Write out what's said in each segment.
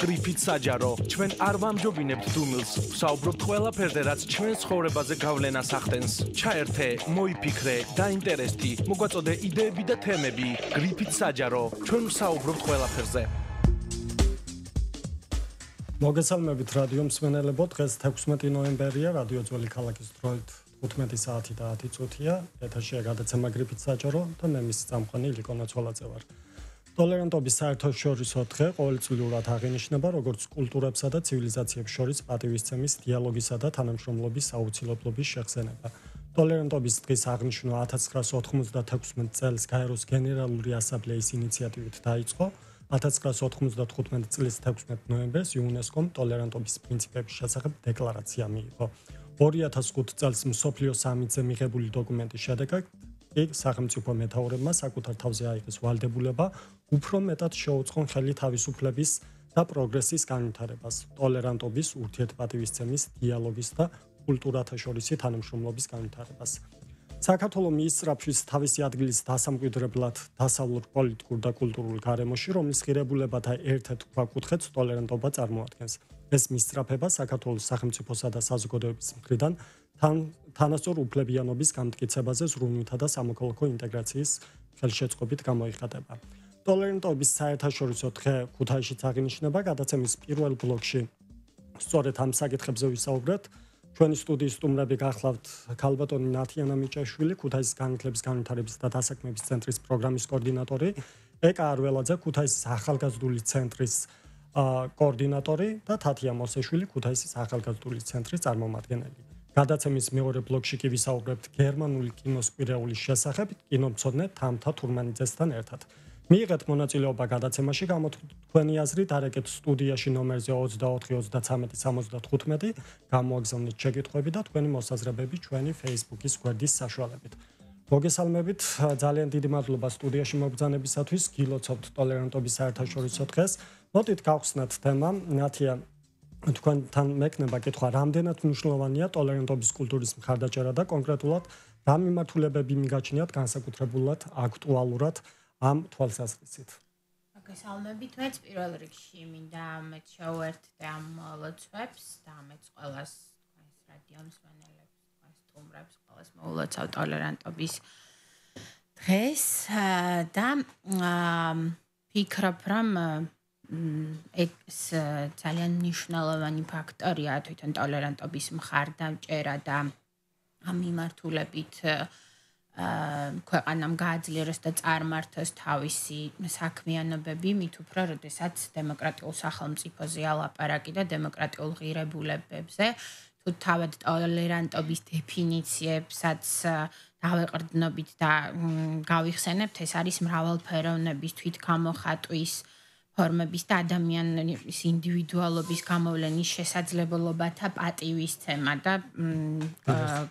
გრიფით საჯარო. ჩვენ არ ვამჯობინებთ დუმილს, ვსაუბრობთ ყველაფერზე, რაც ჩვენ ცხოვრებაზე გავლენას ახდენს. ჩაერთე, მოიფიქრე, დაინტერესდი, მოგვაწოდე იდეები და თემები. გრიფით საჯარო. ჩვენ ვსაუბრობთ ყველაფერზე. მოგესალმებით რადიო მსმენელებო, დღეს 16 ნოემბერია, რადიო ძველი ქალაქის დროით 15 საათი და 10 წუთია. ეთერშია გადაცემა გრიფით საჯარო და მე მის წამყვანი ილიკო ნაცვალაძე ვარ. ტოლერანტობის საერთაშორისო დღე ყოველწლიურად აღინიშნება როგორც კულტურებსა და ცივილიზაციებს შორის პატივისცემის, დიალოგისა და თანამშრომლობის აუცილებლობის შეხსენება. ტოლერანტობის დღის აღნიშვნა 1996 წელს გაეროს გენერალური ასამბლეის ინიციატივით დაიწყო. 1995 წლის 16 ნოემბერს იუნესკომ ტოლერანტობის პრინციპების შესახებ დეკლარაცია მიიღო. 2005 წელს მსოფლიო სამიტზე მიღებული დოკუმენტის შედეგად სახელმწიფო მეთაურებმა საკუთარ თავზე აიღეს ვალდებულება უფრო მეტად შეუწყონ ხელი თავისუფლების და პროგრესის განვითარებას, ტოლერანტობის, ურთიერთპატივისცემის, დიალოგის და კულტურათა შორისი თანამშრომლობის განვითარებას. საქართველოს მიისწრაფვის თავისი ადგილის დასამკვიდრებლად დასავლურ პოლიტიკურ და კულტურულ გარემოში, რომლის ღირებულებათა ერთ-ერთ ქვაკუთხედს ტოლერანტობა წარმოადგენს. ეს მისწრაფება საქართველოს სახელმწიფოსა და საზოგადოების მხრიდან თანასწორ უფლებიანობის გამტკიცებაზე ზრუნვითა და სამოქალაქო ინტეგრაციის ხელშეწყობით გამოიხატება. ტოლერანტობის საერთაშორისო დღე ქუთაისშიც აღინიშნება. გადაცემის პირველ ბლოკში სწორედ ამ საკითხებზე ვისაუბრებთ. ჩვენი სტუდიის სტუმრები გახლავთ ქალბატონი ნათიანა მიჭაშვილი, ქუთაისის განათლების განვითარების და დასაქმების ცენტრის პროგრამის კოორდინატორი, ეკა არველაძე, ქუთაისის ახალგაზრდული ცენტრის კოორდინატორი და თათია მოსეშვილი, ქუთაისის ახალგაზრდული ცენტრის წარმომადგენელი. გადაცემის მეორე ბლოკში კი ვისაუბრებთ გერმანული კინოს კვირეულის შესახებ, კინომცოდნე თამთა თურმანიძესთან ერთად. მიიღეთ მონაწილეობა გადაცემაში, გამოთქვენი აზრით არეკეთ სტუდიაში ნომერზე 24 33 75, გამოაგზავნეთ შეკითხვები და თქვენი მოსაზრებები ჩვენი Facebook-ის გვერდის საშუალებით. მოგესალმებით, ძალიან დიდი მადლობა სტუდიაში მობრძანებისათვის, გილოცავთ ტოლერანტობის საერთაშორისო დღეს. მოდით გავხსნათ თემა. ნათია, თქვენთან მექნება კითხვა, რამდენად მნიშვნელოვანია ტოლერანტობის კულტურის მხარდაჭერა და კონკრეტულად რა მიმართულებები მიგაჩნიათ განსაკუთრებულად აქტუალურად ამ თვალსაზრისით. მოგესალმებით, მეც პირველ რიგში მინდა ამეთ შევერთდე ამ ლოცვებს და ამეც ყველას თქვენს რადიო მსმენელებს, თქვენს სტუმრებს, ყველას მოულოცავ ტოლერანტობის დღეს და ვფიქრობ, რომ ეს ძალიან მნიშვნელოვანი ფაქტორია თვითონ ტოლერანტობის მხარდაჭერა და ამ მიმართულებით ქვეყანამ გააძლიეროს და წარმართოს თავისი საქმიანობები, მით უფრო, როდესაც დემოკრატიულ სახელმწიფოზე ალაპარაკი და დემოკრატიულ ღირებულებებზე, თუ თავად ტოლერანტობის დეფინიციებსაც დავეყრდნობით და გავიხსენებთ, ეს არის მრავალფეროვნების, თვითგამოხატვის ფორმების და ადამიანის ინდივიდუალობის გამოვლენის შესაძლებლობათა პატივისცემა და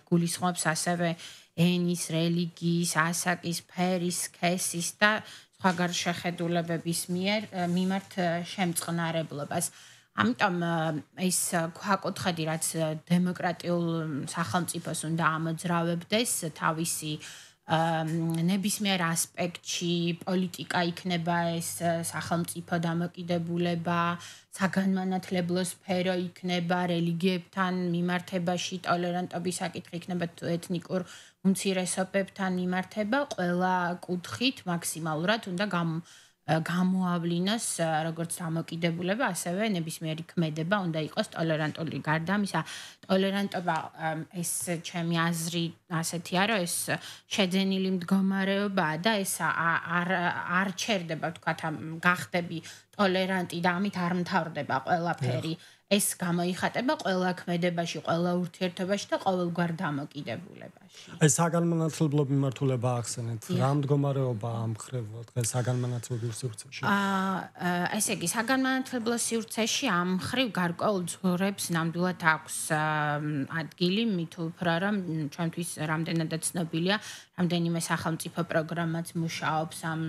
გულისხმობს ასევე ენის, რელიგიის, ასაკის, ფერის, სქესის და სხვაგან შეხედულებების მიმართ შემწყნარებლობას. ამიტომ ეს ქვაკუთხედი, რაც დემოკრატიულ სახელმწიფოს უნდა ამოძრავებდეს თავისი ნებისმიერ ასპექტში, პოლიტიკა იქნება ეს სახელმწიფო დამოკიდებულება, საგანმანათლებლო სფერო იქნება, რელიგიებთან მიმართებაში ტოლერანტობის საკითხი იქნება, ეთნიკურ უმცირესობებთან მიმართება, ყველა კუთხით მაქსიმალურად უნდა გამოავლინოს როგორც დამოკიდებულება, ასევე ნებისმიერი ქმედება უნდა იყოს ტოლერანტული. გარდა ამისა, ტოლერანტობა ეს ჩემი აზრი ასეთია, რომ ეს შეძენილი მდგომარეობაა და ეს არ ჩერდება, ვთქვათ, გახდები ტოლერანტი და ამით არ მთავრდება ყველაფერი. ეს გამოიხატება ყველა ქმედებაში, ყველა ურთიერთობაში და ყოველგვარ დამოკიდებულებაში. ეს საგანმანათლებლო მიმართულება ახსენეთ. რა მდგომარეობა ამ მხრივ დღეს საგანმანათლებლო სივრცეში? ესე იგი, საგანმანათლებლო სივრცეში ამ მხრივ გარკვეულ ძღვრებს ნამდვილად აქვს ადგილი, მით უფრო რომ ჩვენთვის რამდენადაც ცნობილია, რამდენიმე სახელმწიფო პროგრამაც მუშაობს ამ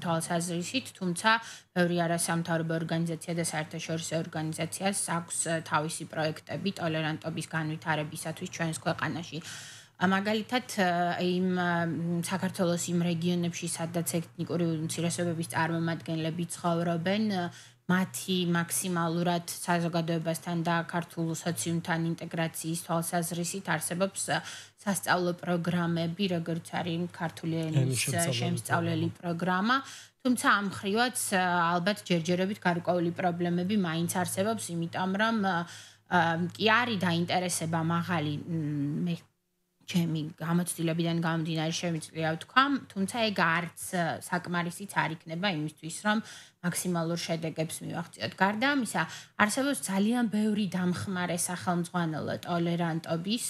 თვალსაზრისით, თუმცა ბევრი არასამთავრობო ორგანიზაცია და საერთაშორისო ორგანიზაციას აქვს თავისი პროექტები ტოლერანტობის განვითარებისათვის ჩვენს ქვეყანაში. მაგალითად იმ საქართველოს იმ რეგიონებში, სადაც ეთნიკური უმცირესობების წარმომადგენლები ცხოვრობენ, მათი მაქსიმალურად საზოგადოებასთან და ქართულ სოციუმთან ინტეგრაციის თვალსაზრისით არსებობს სასწავლო პროგრამები, როგორც არის ქართული ენის შემსწავლელი პროგრამა. თუმცა ამ მხრივაც ალბათ ჯერჯერობით გარკვეული პრობლემები მაინც არსებობს, იმიტომ რომ კი არის დაინტერესება მაღალი მე ჩემი გამოცდილებიდან გამომდინარე შემიძლია ვთქვა, თუმცა ეგ არც საკმარისიც არ იქნება იმისთვის, რომ მაქსიმალურ შედეგებს მივაღწიოთ. გარდა ამისა, არსებობს ძალიან ბევრი დამხმარე სახელმძღვანელო ტოლერანტობის,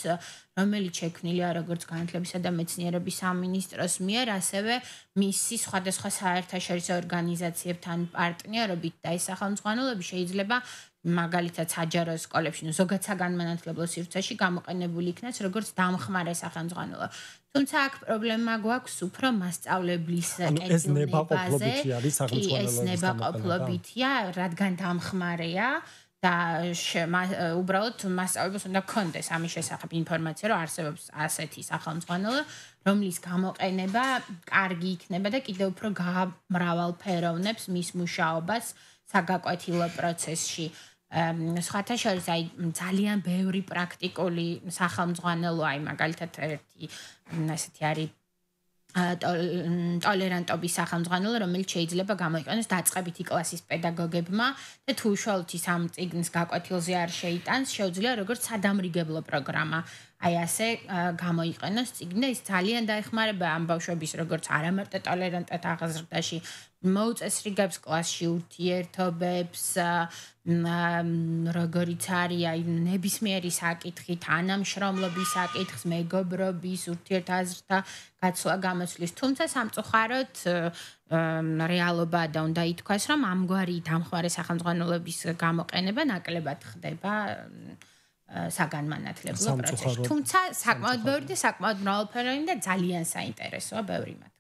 რომელიც შექმნილია როგორც განათლებისა და მეცნიერების სამინისტროს მიერ, ასევე მისი სხვადასხვა საერთაშორისო ორგანიზაციებთან პარტნიორობით და ეს სახელმძღვანელოები შეიძლება მაგალითად საჯარო სკოლებში, ზოგად საგანმანათლებლო სივრცეში გამოყენებული იქნას როგორც დამხმარე სახელმძღვანელო. თუმცა აქ პრობლემა გვაქვს უფრო მასწავლებლის კეთილნებაზე. ეს ნებაყოფლობითია, რადგან დამხმარეა და უბრალოდ მასწავლებლებს უნდა კონდეს ამის შესახებ ინფორმაცია, რომ არსებობს ასეთი სახელმძღვანელო, რომლის გამოყენება კარგი იქნება და კიდევ უფრო გამრავალფეროვნებს მის მუშაობას საგაკვეთილო პროცესში. სხვათა შორის აი ძალიან ბევრი პრაქტიკული სახელმძღვანელო აი მაგალითად ერთი ასეთი არის ტოლერანტობის სახელმძღვანელო, რომელიც შეიძლება გამოიყენოს დაწყებითი კლასის პედაგოგებმა და თუ უშუალოდ ის ამ წიგნის გაკვეთილზე არ შეიტანს, შეუძლია როგორც სადამრიგებლო პროგრამა. აი ასე გამოიყენოს წიგნი და ის ძალიან დაეხმარება ამ ბავშვების როგორც არამარტო ტოლერანტად აღზრდაში, მოუწესრიგებს კლასში ურთიერთობებს, როგორიც არის აი ნებისმიერი საკითხი, თანამშრომლობის საკითხს, მეგობრობის, ურთიერთაზრთა გაცვლა გამოცვლის. თუმცა სამწუხაროდ რეალობა და უნდა ითქვას, რომ ამგვარი დამხმარე სახელმძღვანელოების გამოყენება ნაკლებად ხდება საგანმანათლებლო პროცესში. თუმცა საკმაოდ ბევრი და საკმაოდ მრავალფეროვანი და ძალიან საინტერესოა ბევრი მათგანი.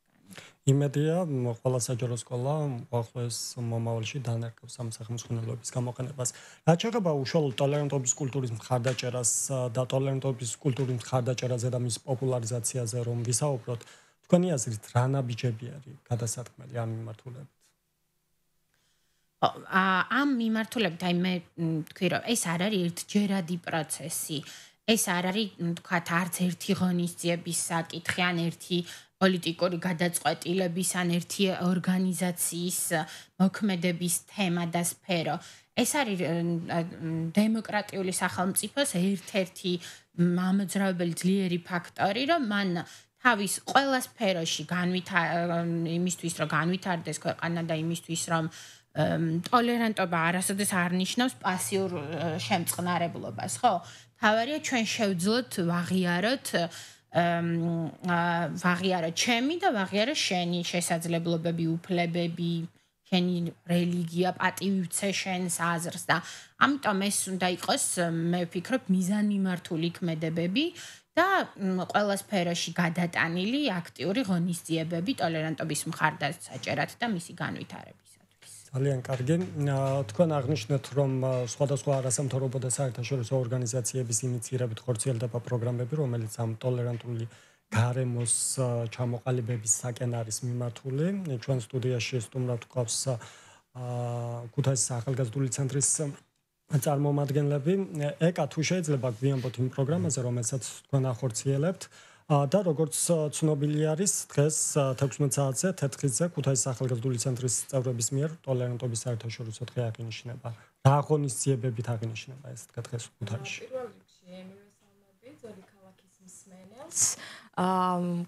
იმედია, ყველა საჯარო სკოლა ახლოს მომავალში დანერგავს ამ სახელმძღვანელოების გამოყენებას. რაც შეეხება უშუალოდ ტოლერანტობის კულტურის მხარდაჭერას და ტოლერანტობის კულტურის მხარდაჭერაზე და მის პოპულარიზაციაზე რომ ვისაუბროთ, თქვენი აზრით რა ნაბიჯები არის გადასატყმელი ამ მიმართულებით? ამ მიმართულებით აი მე თქვი რომ ეს არ არის ერთჯერადი პროცესი. ეს არ არის თქვათ არც ერთი ღონისძიების საკითხი ან ერთი პოლიტიკური გადაწყვეტილების ან ერთი ორგანიზაციის მოქმედების თემა და სფერო. ეს არის დემოკრატიული სახელმწიფოს ერთ-ერთი მამოძრავებელი ძლიერი ფაქტორი, რომ მან თავის ყველა სფეროში იმისთვის რომ განვითარდეს ქვეყანა და იმისთვის რომ ტოლერანტობა არასოდეს არ ნიშნავს პასიურ შემწყნარებლობას, ხო? თავარია ჩვენ შევძლოთ ვაღიაროთ ჩემი და ვაღიარო შენი შესაძლებლობები, უფლებები, შენი რელიგია, პატივიცე შენს აზრს და ამიტომ ეს უნდა იყოს, მე ვფიქრობ, მიზანმიმართული ქმედებები და ყველა სფეროში გადატანილი აქტიური ღონისძიებები ტოლერანტობის მხარდაჭერად და მისი განვითარებისათვის. ძალიან კარგი. თქვენ აღნიშნეთ, რომ სხვადასხვა არასამთავრობო და საერთაშორისო ორგანიზაციების ინიციირებით ხორციელდება პროგრამები, რომელიც ამ ტოლერანტული გარემოს ჩამოყალიბების საკენ არის მიმართული. ჩვენ სტუდიაში სტუმრად გვყავს ქუთაისის ახალგაზრდული ცენტრის წარმომადგენლები. ეკა თუ შეიძლება გვიანბოთ იმ პროგრამაზე, რომელსაც თქვენ ახორციელებთ და როგორც ცნობილი არის, დღეს 16 საათზე თეთრხიზზე ქუთაისის ახალგაზრდული ცენტრის წევრების მიერ ტოლერანტობის საერთაშორისო დღე აღინიშნება. რა ღონისძიებებით აღინიშნება ეს დღეს ქუთაისში? პირველ რიგში მივესალმები ძველი ქალაქის მსმენელს.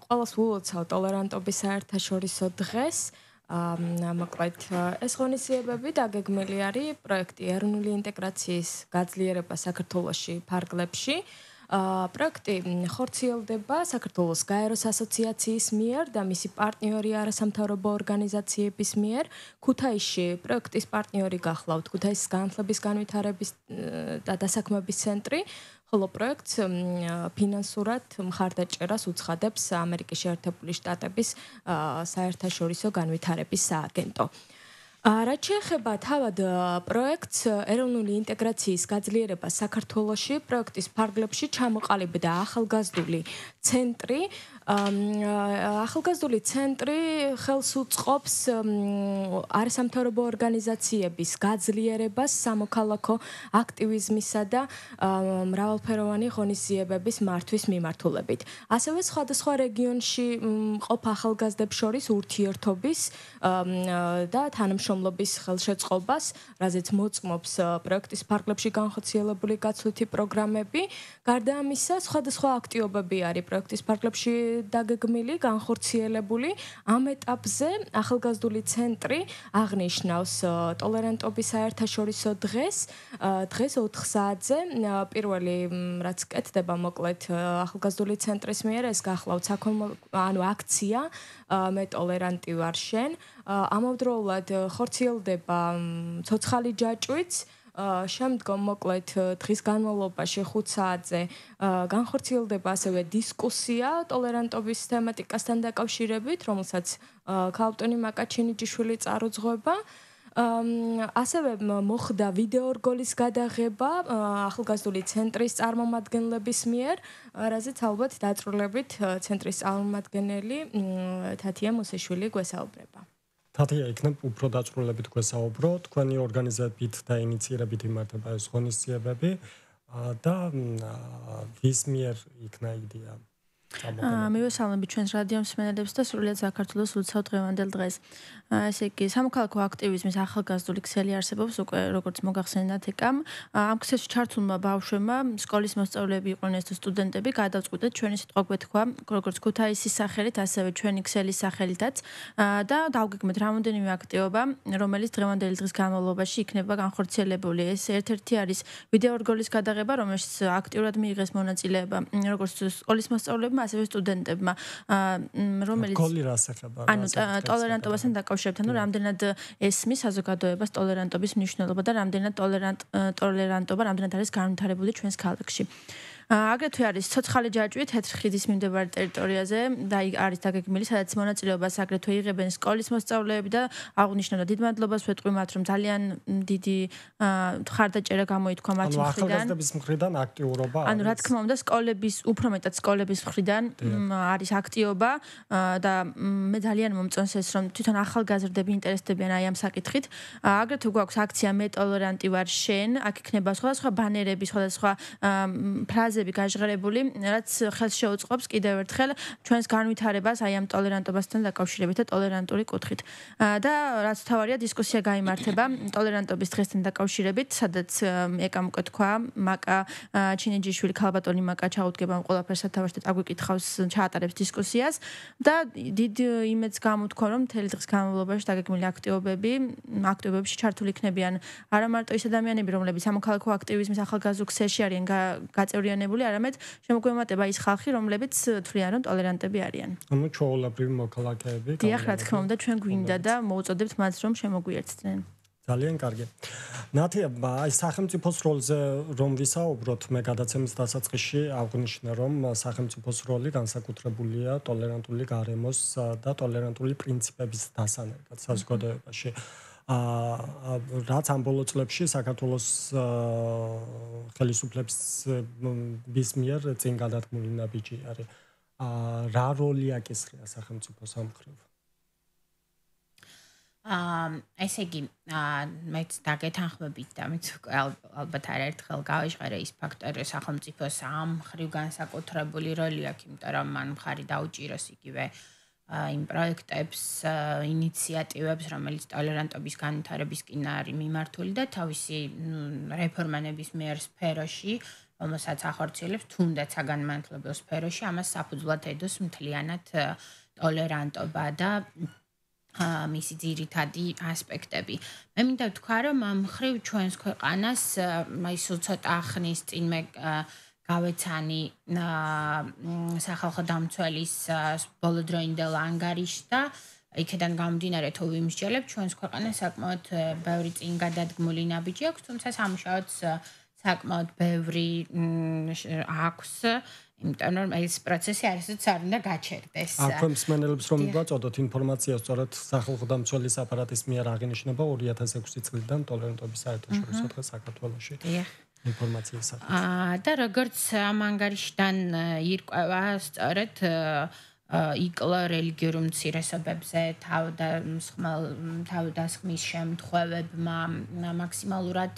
ყველას ვულოცავ ტოლერანტობის საერთაშორისო დღეს. მოკლედ ეს ღონისძიებები დაგეგმილი არის პროექტი ეროვნული ინტეგრაციის გაძლიერება საქართველოში ფარგლებში. პროექტი ხორციელდება საქართველოს გაეროს ასოციაციის მიერ და მისი პარტნიორი არასამთავრობო ორგანიზაციების მიერ. ქუთაისში პროექტის პარტნიორი გახლავთ ქუთაისის განათლების განვითარების და დასაქმების ცენტრი, ხოლო პროექტს ფინანსურად მხარდაჭერას უცხადებს ამერიკის შეერთებული შტატების საერთაშორისო განვითარების სააგენტო. რაც შეეხება თავად პროექტს ეროვნული ინტეგრაციის გაძლიერება საქართველოში, პროექტის ფარგლებში ჩამოყალიბდა ახალგაზრდული ცენტრი. ახალგაზრდული ცენტრი ხელს უწყობს არასამთავრობო ორგანიზაციების გაძლიერებას სამოქალაქო აქტივიზმისა და მრავალფეროვანი ღონისძიებების მართვის მიმართულებით. ასევე სხვადასხვა რეგიონში მყოფ ახალგაზრდებს შორის ურთიერთობის და თანამშრომლობის ხელშეწყობას, რაზეც მოწმობს პროექტის ფარგლებში განხორციელებული გაცვლითი პროგრამები. გარდა ამისა, სხვადასხვა აქტივობები არის პროექტის ფარგლებში დაგეგმილი, განხორციელებული. ამ ეტაპზე ახალგაზრდული ცენტრი აღნიშნავს ტოლერანტობის საერთაშორისო დღეს 4 საათზე. პირველი რაც კეთდება მოკლედ ახალგაზრდული ცენტრის მიერ, ეს გახლავთ აქცია მე ტოლერანტი ვარ შენ. ამავდროულად ხორციელდება ცოცხალი ჯაჭვიც. შემდგომ მოკლედ დღის განმავლობაში 5 საათზე განხორციელდება ასევე დისკუსია ტოლერანტობის თემატიკასთან დაკავშირებით, რომელსაც ქალბატონი მაკაჩინიძიშვილი წარუძღვება. ასევე მოხდა ვიდეორგოლის გადაღება ახალგაზრდული ცენტრის წარმომადგენლების მიერ, რაზეც ალბათ დაწვრილებით ცენტრის წარმომადგენელი თათია მოსეშვილი გვესაუბრება. თათია, იქნებ უფრო დაწვრილებით გვესაუბრო, თქვენი ორგანიზებით და ინიციირებით იმართება ეს ღონისძიებები და ვის მიერ იქნა იდეა? მივესალმებით ჩვენს რადიო მსმენელებს და სრულიად საქართველოს უცავ დღევანდელ დღეს. ესე იგი, სამოქალაქო აქტივიზმის ახალგაზრდული ქსელი არსებობს უკვე, როგორც მოგახსენებათ ეკამ. ამ ქსელში ჩართულმა ბავშვებმა, სკოლის მოსწავლეები იყვნენ თუ სტუდენტები, გადავწყვიტეთ ჩვენი სიტყვა გვეთქვა, როგორც ქუთაისის სახელით, ასევე ჩვენი ქსელის სახელითაც და დავგეგმეთ რამოდენიმე აქტივობა, რომელიც დღევანდელი დღის განმავლობაში იქნება განხორციელებული. ეს ერთ-ერთი არის ვიდეორგოლის გადაღება, რომელშიც აქტიურად მიიღეს მონაწილეობა, როგორც სკოლის მოსწავლეებმა, ასევე სტუდენტებმა, რომელიც გოლი რას ეხება? ანუ ტოლერანტობასთან დაკავშირებით, ანუ რამდენად ესმის საზოგადოებას ტოლერანტობის მნიშვნელობა და რამდენად ტოლერანტობა რამდენად არის განვითარებული ჩვენს ქალაქში. აგრეთვე არის ცოცხალი ჯაჭვი თეთრი ხიდის მიმდებარე ტერიტორიაზე და არის დაგეგმილი, სადაც მონაწილეობას აგრეთვე იღებენ სკოლის მოსწავლეები და აღნიშნავდა დიდ მადლობას ვეთქვი მათ, რომ ძალიან დიდი მხარდაჭერა გამოითქვა მათი მხრიდან. ახალგაზრდების მხრიდან აქტიურობა არის. ანუ რა თქმა უნდა, სკოლების, უფრო მეტად სკოლების მხრიდან არის აქტიობა და მე ძალიან მომწონს ეს, რომ თვითონ ახალგაზრდები ინტერესდებიან აი ამ საკითხით. აგრეთვე გვაქვს აქცია მე ტოლერანტი ვარ შენ, აქ იქნება სხვადასხვა ბანერები, სხვადასხვა ფრაზები გაჟღერებული, რაც ხელს შეუწყობს კიდევ ერთხელ ჩვენს განვითარებას აი ამ ტოლერანტობასთან დაკავშირებით და ტოლერანტული კუთხით. და რაც თავარია დისკუსია გაიმართება ტოლერანტობის დღესთან დაკავშირებით, სადაც ეკამ უკვე თქვა, მაკა ჩინიძიშვილი ქალბატონი მაკა ჩაუდგება ყველაფერს სათავეში და აგვიკითხავს, ჩაატარებს დისკუსიას და დიდ იმედს გამოთქვა, რომ მთელი დღის განმავლობაში დაგეგმილი აქტივობებში ჩართული იქნებიან არა მარტო ის ადამიანები, რომლებიც სამოქალაქო აქტივიზმის ახალგაზრდულ ქსელში არიან გაწევრიანებული, არამედ შემოგვემატება ის ხალხი, რომლებიც თვლიან, რომ ტოლერანტები არიან. ანუ ჩვეულებრივი მოქალაქეები. დიახ, რა თქმა უნდა, ჩვენ გვინდა და მოუწოდებთ მათ, რომ შემოგვიერთდნენ. ძალიან კარგი. ნათია, აი სახელმწიფოს როლზე რომ ვისაუბროთ, მე გადაცემის დასაწყისში აღვნიშნე, რომ სახელმწიფოს როლი განსაკუთრებულია ტოლერანტული გარემოს და ტოლერანტული პრინციპების დასანერგად საზოგადოებაში. რაც ამ ბოლო წლებში საქართველოს ხელისუფლების მიერ წინ გადადგმული ნაბიჯი არის. რა როლი აკისრია სახელმწიფოს ამ მხრივ? ესე იგი, მეც დაგეთანხმებით და მეც ალბათ არაერთხელ გავეშყერე ის ფაქტორი, რომ სახელმწიფოს ამ მხრივ განსაკუთრებული როლი აქვს, იმიტომ რომ მან მხარი დაუჭიროს იგივე იმ პროექტებს, ინიციატივებს, რომელიც ტოლერანტობის განვითარებისკენ არის მიმართული და თავისი რეფორმანების მიერ სფეროში, რომელსაც ახორციელებს თუნდაც საგანმანათლებლო სფეროში, ამას საფუძვლად ედოს მთლიანად ტოლერანტობა და მისი ძირითადი ასპექტები. მე მინდა ვთქვა, რომ ამ მხრივ ჩვენს ქვეყანას აი ცოტა ხნის წინ მე გავეცანი სახალხო დამცველის ბოლოდროინდელ ანგარიშს და იქიდან გამომდინარე თუ ვიმსჯელებ, ჩვენს ქვეყანას საკმაოდ ბევრი წინ გადადგმული ნაბიჯი აქვს, თუმცა სამუშაოც საკმაოდ ბევრი აქვს, იმიტომ რომ ეს პროცესი არასდროს არ უნდა გაჩერდეს. აქვე მსმენელებს რომ ვაწოდოთ ინფორმაცია სწორედ სახალხო დამცველის აპარატის მიერ აღინიშნება 2006 წლიდან ტოლერანტობის საერთაშორისო დღე საქართველოში. ინფორმაციის საკითხი. და როგორც ამ ანგარიშიდან ირკვევა, სწორედ იკლო რელიგიურ უმცირესობებზე თავდასხმის შემთხვევებმა მაქსიმალურად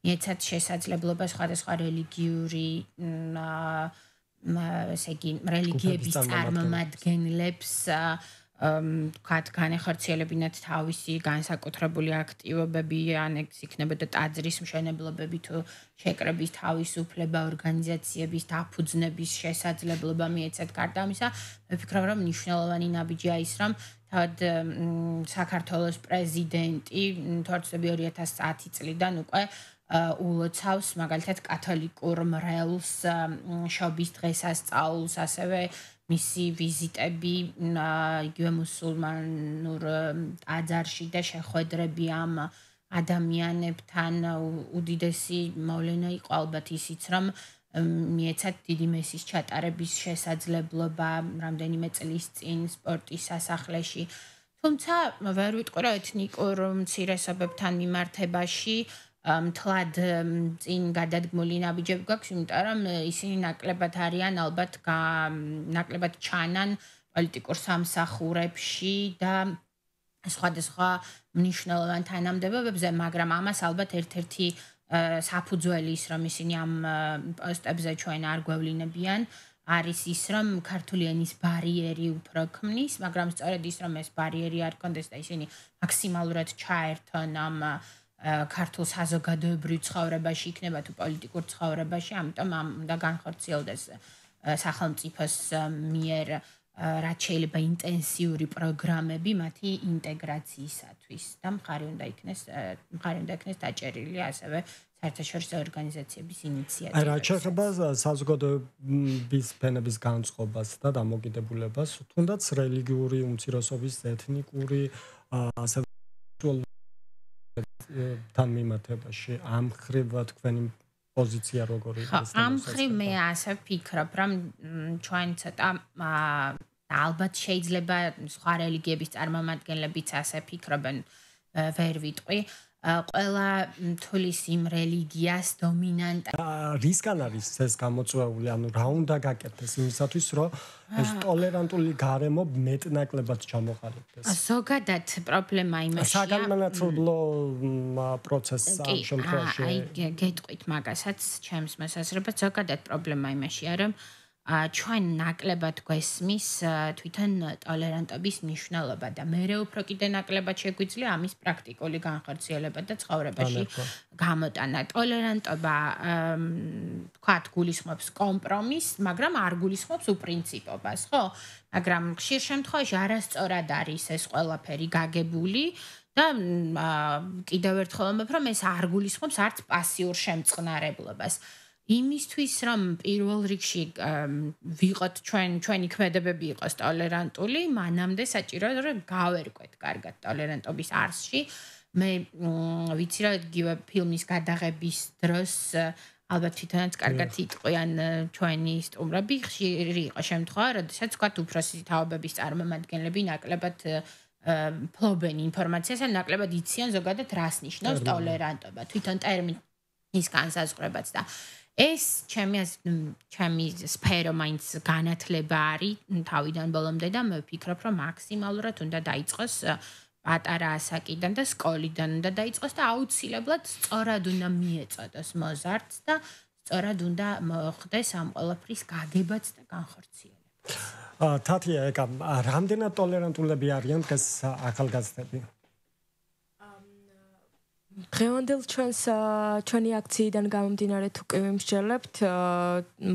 მიეცათ შესაძლებლობა სხვადასხვა რელიგიური ესე იგი რელიგიების წარმომადგენლებს ვთქვათ, განეხორციელებინათ თავისი განსაკუთრებული აქტივობები, ან ეს იქნებოდა ტაძრის მშენებლობები თუ შეკრების თავისუფლება, ორგანიზაციების დაფუძნების შესაძლებლობა მიეცათ. გარდა ამისა, მე ვფიქრობ, რომ მნიშვნელოვანი ნაბიჯია ის, რომ თავად საქართველოს პრეზიდენტი თორცები 2010 წლიდან უკვე ულოცავს მაგალითად კათოლიკურ მრევლს შობის დღესასწაულს, ასევე მისი ვიზიტები იგივე მუსულმანურ ტაძარში და შეხვედრები ამ ადამიანებთან უდიდესი მოვლენა იყო ალბათ ისიც, რომ მიეცათ დიდი მესის ჩატარების შესაძლებლობა რამდენიმე წლის წინ სპორტის სასახლეში. თუმცა ვერ ვიტყვი, რომ ეთნიკურ უმცირესობებთან მიმართებაში მთლად წინ გადადგმული ნაბიჯები გვაქვს, იმიტომ რომ ისინი ნაკლებად არიან, ალბათ ნაკლებად ჩანან პოლიტიკურ სამსახურებში და სხვადასხვა მნიშვნელოვან თანამდებობებზე, მაგრამ ამას ალბათ ერთ-ერთი საფუძველი ის, რომ ისინი ამ პოსტებზე ჩვენ არ გვევლინებიან, არის ის, რომ ქართული ენის ბარიერი უფრო ქმნის, მაგრამ სწორედ ის, რომ ეს ბარიერი არ კონდეს და ისინი მაქსიმალურად ჩაერთონ ამ ქართულ საზოგადოებრივ ცხოვრებაში, იქნება თუ პოლიტიკურ ცხოვრებაში, ამიტომ უნდა განხორციელდეს სახელმწიფოს მიერ რაც შეიძლება ინტენსიური პროგრამები მათი ინტეგრაციისათვის და მხარი უნდა იქნეს დაჭერილი ასევე საერთაშორისო ორგანიზაციების ინიციატივები. რაც შეეხება საზოგადოების ფენების განწყობას და დამოკიდებულებას, თუნდაც რელიგიური უმცირესობის, ეთნიკური ასევე თან მიმართებაში ამ ხრივ თქვენი პოზიცია როგორი არის? ამ ხრივ მე ასე ვფიქრობ, რომ ჩვენ ცოტა ალბათ შეიძლება სხვა რელიგიების წარმომადგენლებიც ასე ფიქრობენ, ვერ ვიტყვი. ყველა თulis იმ რელიგიას დომინანტ რისკან არის ეს გამოწვეული, ანუ რა უნდა გაკეთდეს იმისათვის, რომ ეს ტოლერანტული გარემო მეტნაკლებად ჩამოყალიბდეს. ზოგადად პრობლემა იმაშია. საგანმანათლებლო პროცესს ამ შემთხვევაში. აი, გეტყვით მაგასაც, ჩემს მოსაზრებას, ზოგადად პრობლემა იმაშია, რომ ჩვენ ნაკლებად გვესმის თვითონ ტოლერანტობის მნიშვნელობა და მე უფრო კიდე ნაკლებად შეგვიძლია ამის პრაქტიკული განხორციელება და ცხოვრებაში გამოტანა. ტოლერანტობა ვთქვათ, გულისხმობს კომპრომისს, მაგრამ არ გულისხმობს უპრინციპობას, ხო? მაგრამ ხშირ შემთხვევაში არასწორად არის ეს ყველაფერი გაგებული და კიდევ ერთხელ ვამბობ, რომ ეს არ გულისხმობს არც პასიურ შემწყნარებლობას. იმისთვის რომ პირველ რიგში ვიყოთ ჩვენი ქმედებები იყოს ტოლერანტული, მანამდე საჭიროა რომ გავერკვეთ კარგად ტოლერანტობის არსში. მე ვიცი რომ იგივე ფილმის გადაღების დროს ალბათ თვითონაც კარგად იტყვიან ჩვენი სტუმრები, ხშირი იყო შემთხვევა, როდესაც თქვათ უფროსი თაობების წარმომადგენლები ნაკლებად ფლობენ ინფორმაციას, ან ნაკლებად იციან ზოგადად რას ნიშნავს ტოლერანტობა, თვითონ ტერმინის განსაზღვრებაც და ეს ჩემი სფერო მაინც განათლება არის თავიდან ბოლომდე და მე ვფიქრობ, რომ მაქსიმალურად უნდა დაიწყოს პატარა ასაკიდან და სკოლიდან უნდა დაიწყოს და აუცილებლად სწორად უნდა მიეწოდოს მოზარდს და სწორად უნდა მოხდეს ამ ყველაფრის გაგებაც და განხორციელება. თათია, რამდენად ტოლერანტულები არიან დღეს ახალგაზრდები? დღევანდელ ჩვენი აქციიდან გამომდინარე თუ კი ვიმსჯელებთ,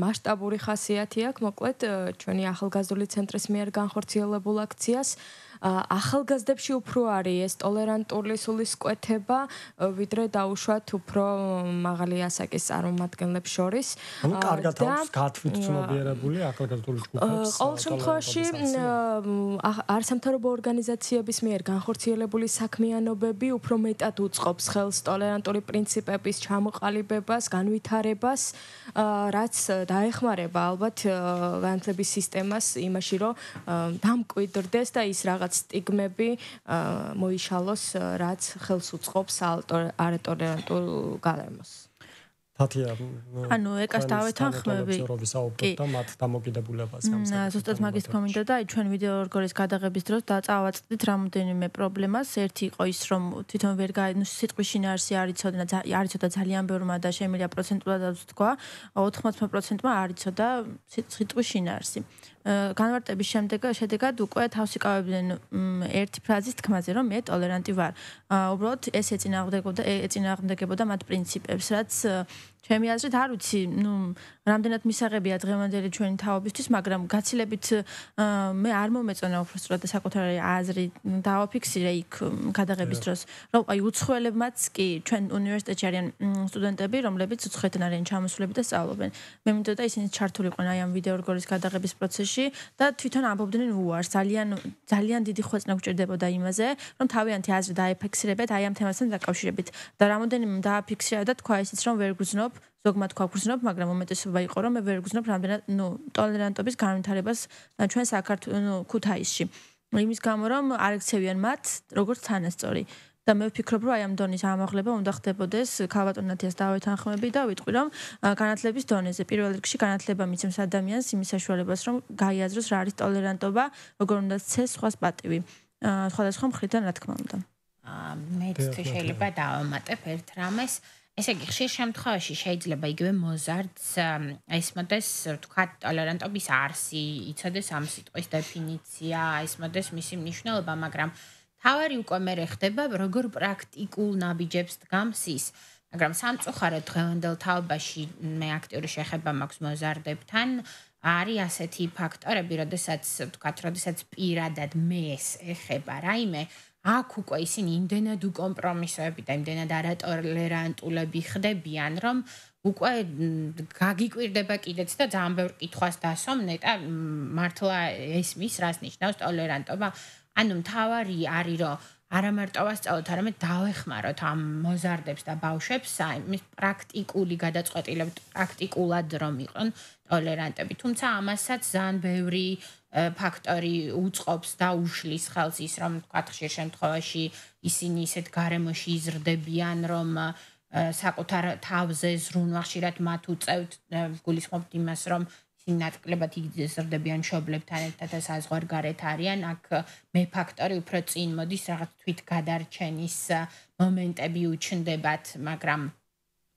მასშტაბური ხასიათი აქვს, მოკლედ ჩვენი ახალგაზრდული ცენტრის მიერ განხორციელებულ აქციას ახალგაზრდებში უფრო არის ეს ტოლერანტული სულისკვეთება, ვიდრე დაუშვათ უფრო მაღალი ასაკის წარმომადგენლებს შორის. ანუ კარგად აქვს გათვლით ცნობიერებული ახალგაზრდული ჯგუფებს. ყოველ შემთხვევაში არასამთავრობო ორგანიზაციების მიერ განხორციელებული საქმიანობები უფრო მეტად უწყობს ხელს ტოლერანტული პრინციპების ჩამოყალიბებას, განვითარებას, რაც დაეხმარება ალბათ განათლების სისტემას იმაში, რომ დამკვიდრდეს და ის რაღაც სტიგმები მოიშალოს, რაც ხელს უწყობს არატოლერანტულ გარემოს. თათია ანუ ეკას დავეთანხმები და მათ დამოკიდებულებას ზუსტად მაგის თქმა და ჩვენ ვიდეო რგოლის გადაღების დროს წავაწყდით რამოდენიმე პრობლემას. ერთი იყო ის, რომ თვითონ ვერ სიტყვის შინაარსი არ იცოდა ძალიან ბევრმა და შემიძლია პროცენტულად თქვა 80%-მა არ იცოდა სიტყვის შინაარსი. განმარტების შედეგად უკვე თავს იკავებდნენ ერთი ფრაზის თქმაზე, რომ მე ტოლერანტი ვარ. უბრალოდ ეს ეწინააღმდეგებოდა მათ პრინციპებს, რაც ჩემი აზრით არ ვიცი, რამდენად მისაღებია დღევანდელი ჩვენი თაობისთვის, მაგრამ გაცილებით მე არ მომეწონა უბრალოდ საკუთარი აზრი დავაფიქსირე იქ გადაღების დროს, რომ აი უცხოელებმაც კი ჩვენ უნივერსიტეტში არიან სტუდენტები, რომლებიც უცხოეთიდან არიან ჩამოსულები და სწავლობენ. მე მინდოდა ისინი ჩართულიყვნენ აი ამ ვიდეო რგოლის გადაღების პროცესში და თვითონ ამბობდნენ უარს, ძალიან დიდი ხვეწნა გვჭირდებოდა იმაზე, რომ თავიანთი აზრი დაეფიქსირებეთ აი ამ თემასთან დაკავშირებით და რამოდენიმე დააფიქსირა და თქვა ისიც, რომ ვერ გრძნობ ზოგმად თქვა გრძნობ, მაგრამ უმეტესობა იყო, რომ მე ვერ გრძნობ რამდენად ტოლერანტობის განვითარებას ჩვენ საქართველოს ქუთაისში. იმის გამო, რომ არ ექცევიან მათ როგორც თანასწორი. და მე ვფიქრობ, რომ აი ამ დონის ამაღლება უნდა ხდებოდეს ქალბატონ ნათიას დავეთანხმები და ვიტყვი, რომ განათლების დონეზე პირველ რიგში განათლება მიცემს ადამიანს იმის საშუალებას, რომ გაიაზროს რა არის ტოლერანტობა, როგორ უნდა ცეს სხვას პატივი. სხვადასხვა მხრიდან რა თქმა უნდა. მეც თუ შეიძლება დავამატებ ერთ რამეს. ესე იგი, ხშირ შემთხვევაში შეიძლება იგივე მოზარდს ესმოდეს, თქვა, ტოლერანტობის არსი, იცოდეს ამ სიტყვის დეფინიცია, ესმოდეს მისი მნიშვნელობა, მაგრამ თავარი უკვე მერე ხდება, როგორ პრაქტიკულ ნაბიჯებს დგამს ის. მაგრამ სამწუხაროდ დღევანდელ თაობაში მე აქტიური შეხება მაქვს მოზარდებთან, არის ასეთი ფაქტორები, როდესაც პირადად მეს ეხება რაიმე, აქ უკვე ისინი იმდენად უკომპრომისოები და იმდენად არატოლერანტულები ხდებიან, რომ უკვე გაგიკვირდება კიდეც და ძალიან ბევრ კითხვას დასვამ ნეტა მართლა ესმის რას ნიშნავს ტოლერანტობა. ანუ მთავარი არის, რომ არა მარტო ვასწავლოთ, არამედ დავეხმაროთ ამ მოზარდებს და ბავშვებს იმის პრაქტიკული გადაწყვეტილებით, პრაქტიკულად რომ იყვნენ ტოლერანტები. თუმცა ამასაც ძალიან ბევრი ფაქტორი უწყობს და უშლის ხელს ის, რომ თქვათ ხშირ შემთხვევაში ისინი ისეთ გარემოში იზრდებიან, რომ საკუთარ თავზე ზრუნვა ხშირად მათ უწევთ, გულისხმობთ იმას, რომ ისინი ნაკლებად იზრდებიან მშობლებთან ერთად და საზღვარგარეთ არიან, აქ მე ფაქტორი უფრო წინ მოდის, რაღაც თვითგადარჩენის მომენტები უჩნდებათ, მაგრამ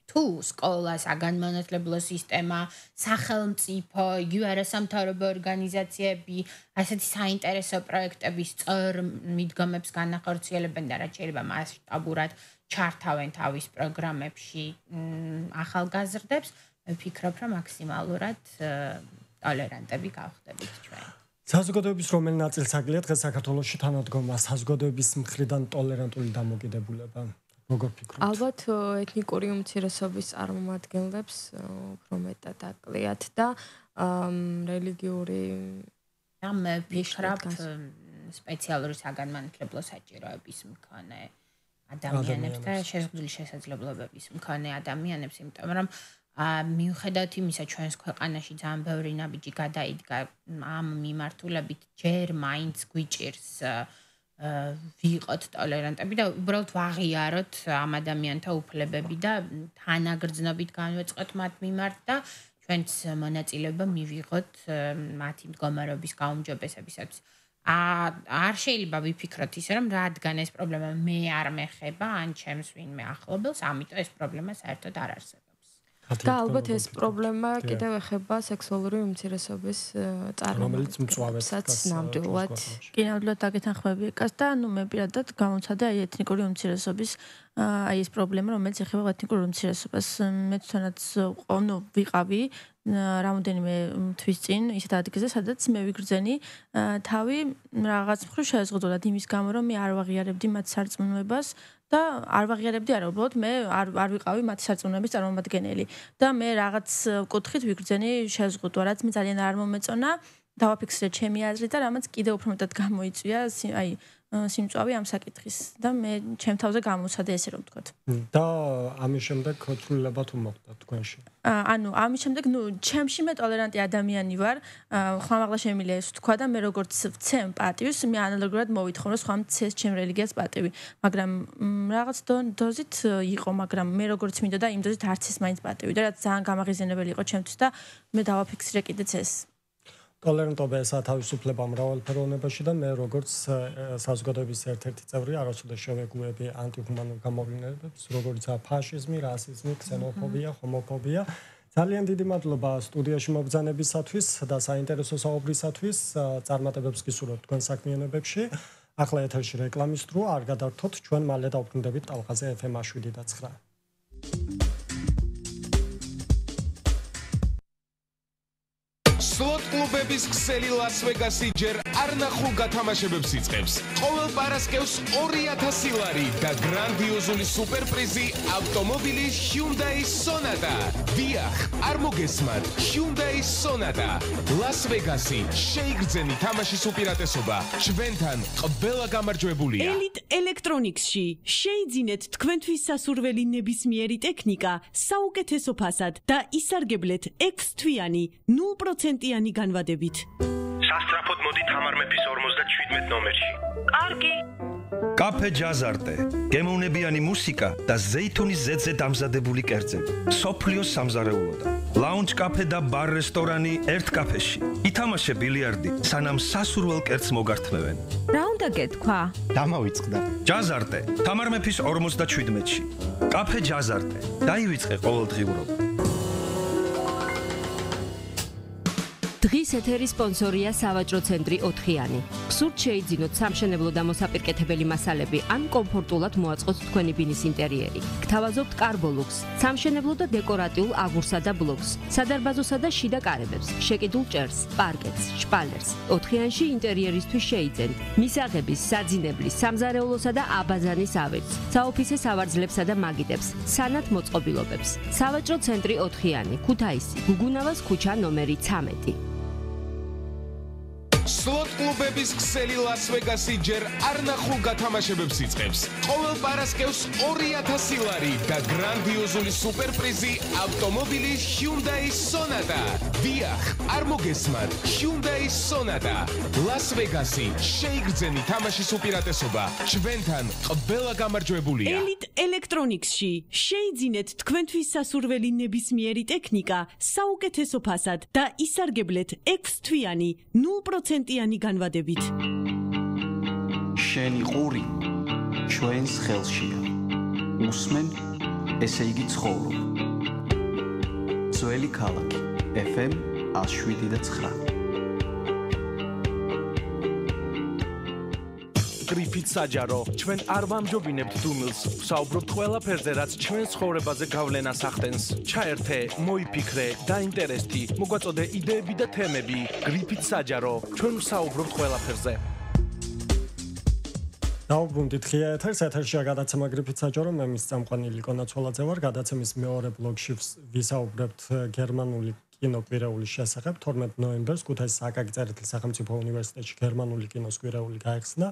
თუ სკოლა, საგანმანათლებლო სისტემა, სახელმწიფო, იგივე არასამთავრობო ორგანიზაციები ასეთი საინტერესო პროექტების სწორ მიდგომებს განახორციელებენ და რაც შეიძლება მასშტაბურად ჩართავენ თავის პროგრამებში ახალგაზრდებს, ვფიქრობ, რომ მაქსიმალურად ტოლერანტები გავხდებით ჩვენ. საზოგადოების რომელი ნაწილს აგლიათ დღეს საქართველოში თანადგომა საზოგადოების მხრიდან ტოლერანტული დამოკიდებულება? როგორ ფიქრობთ? ალბათ ეთნიკური უმცირესობის წარმომადგენლებს უფრო მეტად აკლიათ და რელიგიური და მე ვფიქრობ სპეციალური საგანმანათლებლო საჭიროების მქონე ადამიანებს და შეზღუდული შესაძლებლობების მქონე ადამიანებს, იმიტომ რომ მიუხედავად იმისა, ჩვენს ქვეყანაში ძალიან ბევრი ნაბიჯი გადაიდგა ამ მიმართულებით, ჯერ მაინც გვიჭირს ვიყოთ ტოლერანტები და უბრალოდ ვაღიაროთ ამ ადამიანთა უფლებები და თანაგრძნობით განვეწყოთ მათ მიმართ და ჩვენც მონაწილეობა მივიღოთ მათი მდგომარეობის გაუმჯობესებისათვის. არ შეიძლება ვიფიქროთ ისე, რომ რადგან ეს პრობლემა მე არ მეხება ან ჩემს ვინმე ახლობელს, ამიტომ ეს პრობლემა საერთოდ არ არსებობს. და ალბათ ეს პრობლემა კიდევ ეხება სექსუალური უმცირესობის წარმოებასაც ნამდვილად. კი, ნამდვილად დაგეთანხმები ეკას და მე პირადად გამოცადე აი ეთნიკური უმცირესობის აი ეს პრობლემა, რომელიც ეხება ეთნიკურ უმცირესობას. მე თვითონაც ვიყავი რამოდენიმე თვის წინ ისეთ ადგილზე, სადაც მე ვიგრძენი თავი რაღაც მხრივ შეზღუდულად იმის გამო, რომ მე არ ვაღიარებდი მათ სარწმუნოებას და არ ვაღიარებდი არა, უბრალოდ მე არ ვიყავი მათი სარწმუნოების წარმომადგენელი და მე რაღაც კუთხით ვიგრძენი შეზღუდვა, რაც მე ძალიან არ მომეწონა, დავაფიქსირე ჩემი აზრი და რამაც კიდევ უფრო მეტად გამოიწვია აი სიმწვავი ამ საკითხის და მე ჩემ თავზე გამოვცადე ესე რომ ვთქვათ. და ამის შემდეგ ცვლილება თუ მოხდა თქვენში? ანუ ამის შემდეგ ჩემში მე ტოლერანტი ადამიანი ვარ, ხმამაღლა შემიძლია ეს ვთქვა და მე როგორც ვცემ პატივს, მე ანალოგურად მოვითხოვ რომ სხვა მცეს ჩემ რელიგიას პატივი, მაგრამ რაღაც დოზით იყო, მაგრამ მე როგორც მინდოდა იმ დოზით არც ის მაინც პატივი და რაც ძალიან გამაღიზიანებელი იყო ჩემთვის და მე დავაფიქსირე კიდეც ეს. ტოლერანტობა ესაა თავისუფლება მრავალფეროვნებაში და მე როგორც საზოგადოების ერთ-ერთი წევრი არასოდეს შევეგუები ანტიჰუმანურ გამოვლენებს, როგორიცაა ფაშიზმი, რასიზმი, ქსენოფობია, ჰომოფობია. ძალიან დიდი მადლობა სტუდიაში მობრძანებისათვის და საინტერესო საუბრისათვის. წარმატებებს გისურვებთ თქვენ საქმიანობებში. ახლა ეთერში რეკლამის დრო, არ გადარჩოთ, ჩვენ მალე დავბრუნდებით ტალღაზე FM 7 და 9. სლოტ კლუბების ქსელი ლას-ვეგასი ჯერ არ ნახულ გათამაშებებს იწყებს. ყოველ პარასკევს 2000 ლარი და გრანდიოზული სუპერპრიზი ავტომობილი Hyundai Sonata. დიახ, არ მოგესმათ, Hyundai Sonata. ლას-ვეგასი, შეიგრძენი თამაშის უპირატესობა. ჩვენთან ყველა გამარჯვებულია. Elite Electronics-ში შეიძინეთ თქვენთვის სასურველი ნებისმიერი ტექნიკა საუკეთესო ფასად და ისარგებლეთ 6 თვიანი 0% განვადებით. სასტრაფოდ მოდი თამარ მეფის 57 ნომერში. კარგი. კაფე ჯაზარტე, გემოვნებიანი მუსიკა და ზეითუნის ზედზე დამზადებული კერძები. სოფლიოს სამზარეულოდან. ლაუნჯ კაფე და ბარ რესტორანი ერთ კაფეში. ითამაშე ბილიარდი, სანამ სასურველ კერძს მოგართმევენ. რა უნდა გეთქვა? დამავიწყდა. ჯაზარტე, თამარ მეფის 57-ში. კაფე ჯაზარტე, დაივიწყე ყოველდღიურობა. დღის ეთერის სპონსორია სავაჭრო ცენტრი 4-იანი. გსურთ შეიძინოთ სამშენებლო და მოსაპირკეთებელი მასალები ან კომფორტულად მოაწყოთ თქვენი ბინის ინტერიერი. გთავაზობთ კარბოლუქს, სამშენებლო და დეკორატიულ აგურსა და ბლოკს, სადარბაზოსა და შიდა კარებებს, შეკიდულ ჭერს, პარკეტს, შპალერს. 4-იანში ინტერიერისთვის შეიძენთ მისაღების, საძინებლის, სამზარეულოსა და აბაზანის ავეჯს, საოფისე სავარძლებსა და მაგიდებს, სანათ მოწყობილობებს. სავაჭრო ცენტრი 4-იანი, ქუთაისი, გუგუნავას ქუჩა ნომერი 13. სლოტ კლუბების ქსელი ლას-ვეგასი ჯერ არ ნახულ გათამაშებებს იწყებს. ყოველ პარასკევს 2000 ლარი და გრანდიოზული სუპერპრიზი ავტომობილი Hyundai Sonata. დიახ, არ მოგესმათ, Hyundai Sonata. ლას-ვეგასი, შეიგრძენი თამაშის უპირატესობა. ჩვენთან ყველა გამარჯვებულია. Elite Electronics-ში შეიძინეთ თქვენთვის სასურველი ნებისმიერი ტექნიკა საუკეთესო ფასად და ისარგებლეთ 6 თვიანი 0% განვადებით. შენი ყური ჩვენს ხელშია. უსმენ, ესე იგი ცხოვრობ. ძველი ქალაქი FM 7 და 9. გრიფით საჯარო, ჩვენ არ ვამჯობინებთ დუმილს, ვსაუბრობთ ყველაფერზე, რაც ჩვენ ცხოვრებაზე გავლენას ახდენს. ჩაერთე, მოიფიქრე, დაინტერესდი, მოგვაწოდე იდეები და თემები. გრიფით საჯარო, ჩვენ ვსაუბრობთ ყველაფერზე. დავბრუნდით ღია ეთერს, ეთერშია გადაცემა გრიფით საჯარო, მე მის წამყვანი ლიკო ნაცვალაძე ვარ, გადაცემის მეორე ბლოგში ვისაუბრებთ გერმანული კინოკვირეულის შესახებ. 12 ნოემბერს ქუთაისის აკაკი წერეთლის სახელმწიფო უნივერსიტეტში გერმანული კინოს კვირეული გაიხსნა.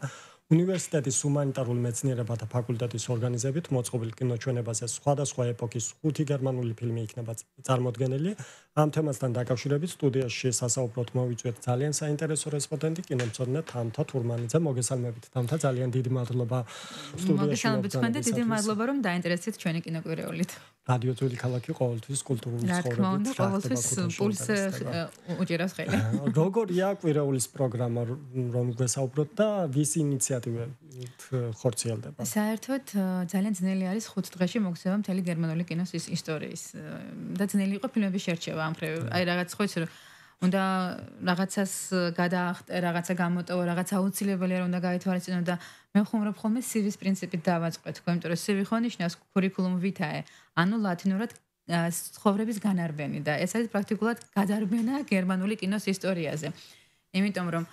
უნივერსიტეტის ჰუმანიტარულ მეცნიერებათა ფაკულტეტის ორგანიზებით მოწყობილ კინოჩვენებაზე სხვადასხვა ეპოქის 5 გერმანული ფილმი იქნება წარმოდგენილი. ამ თემასთან დაკავშირებით სტუდიაში სასაუბროდ მოვიწვიეთ ძალიან საინტერესო რესპონდენტი კინომცოდნე თამთა თურმანიძე. მოგესალმებით თამთა, ძალიან დიდი მადლობა სტუდიაში. მოგესალმებით თქვენ და დიდი მადლობა რომ დაინტერესდით ჩვენი კინოკვირეულით. რადიო ძველი ქალაქი ყოველთვის კულტურული ცხოვრებით ყოველთვის პულს უჭირავს ხელი. როგორია კვირეულის პროგრამა, რომ გვესაუბროთ და ვის ინიციატივით ინიციატივით ხორციელდება? საერთოდ ძალიან ძნელი არის 5 დღეში მოგზაურობა მთელი გერმანული კინოს ისტორიის და ძნელი იყო ფილმების შერჩევა ამ მხრივ. აი რაღაც ხო იცი რომ უნდა რაღაცას გადაახტე, რაღაცა გამოტოვო, რაღაც აუცილებელია რომ უნდა გაითვალისწინო და მე ვხუმრობ ხოლმე CV-ს პრინციპით დავაწყოთ, იმიტომ რომ CV ხო ნიშნავს curriculum vitae, ანუ ლათინურად ცხოვრების განარბენი და ეს არის პრაქტიკულად გადარბენა გერმანული კინოს ისტორიაზე. იმიტომ რომ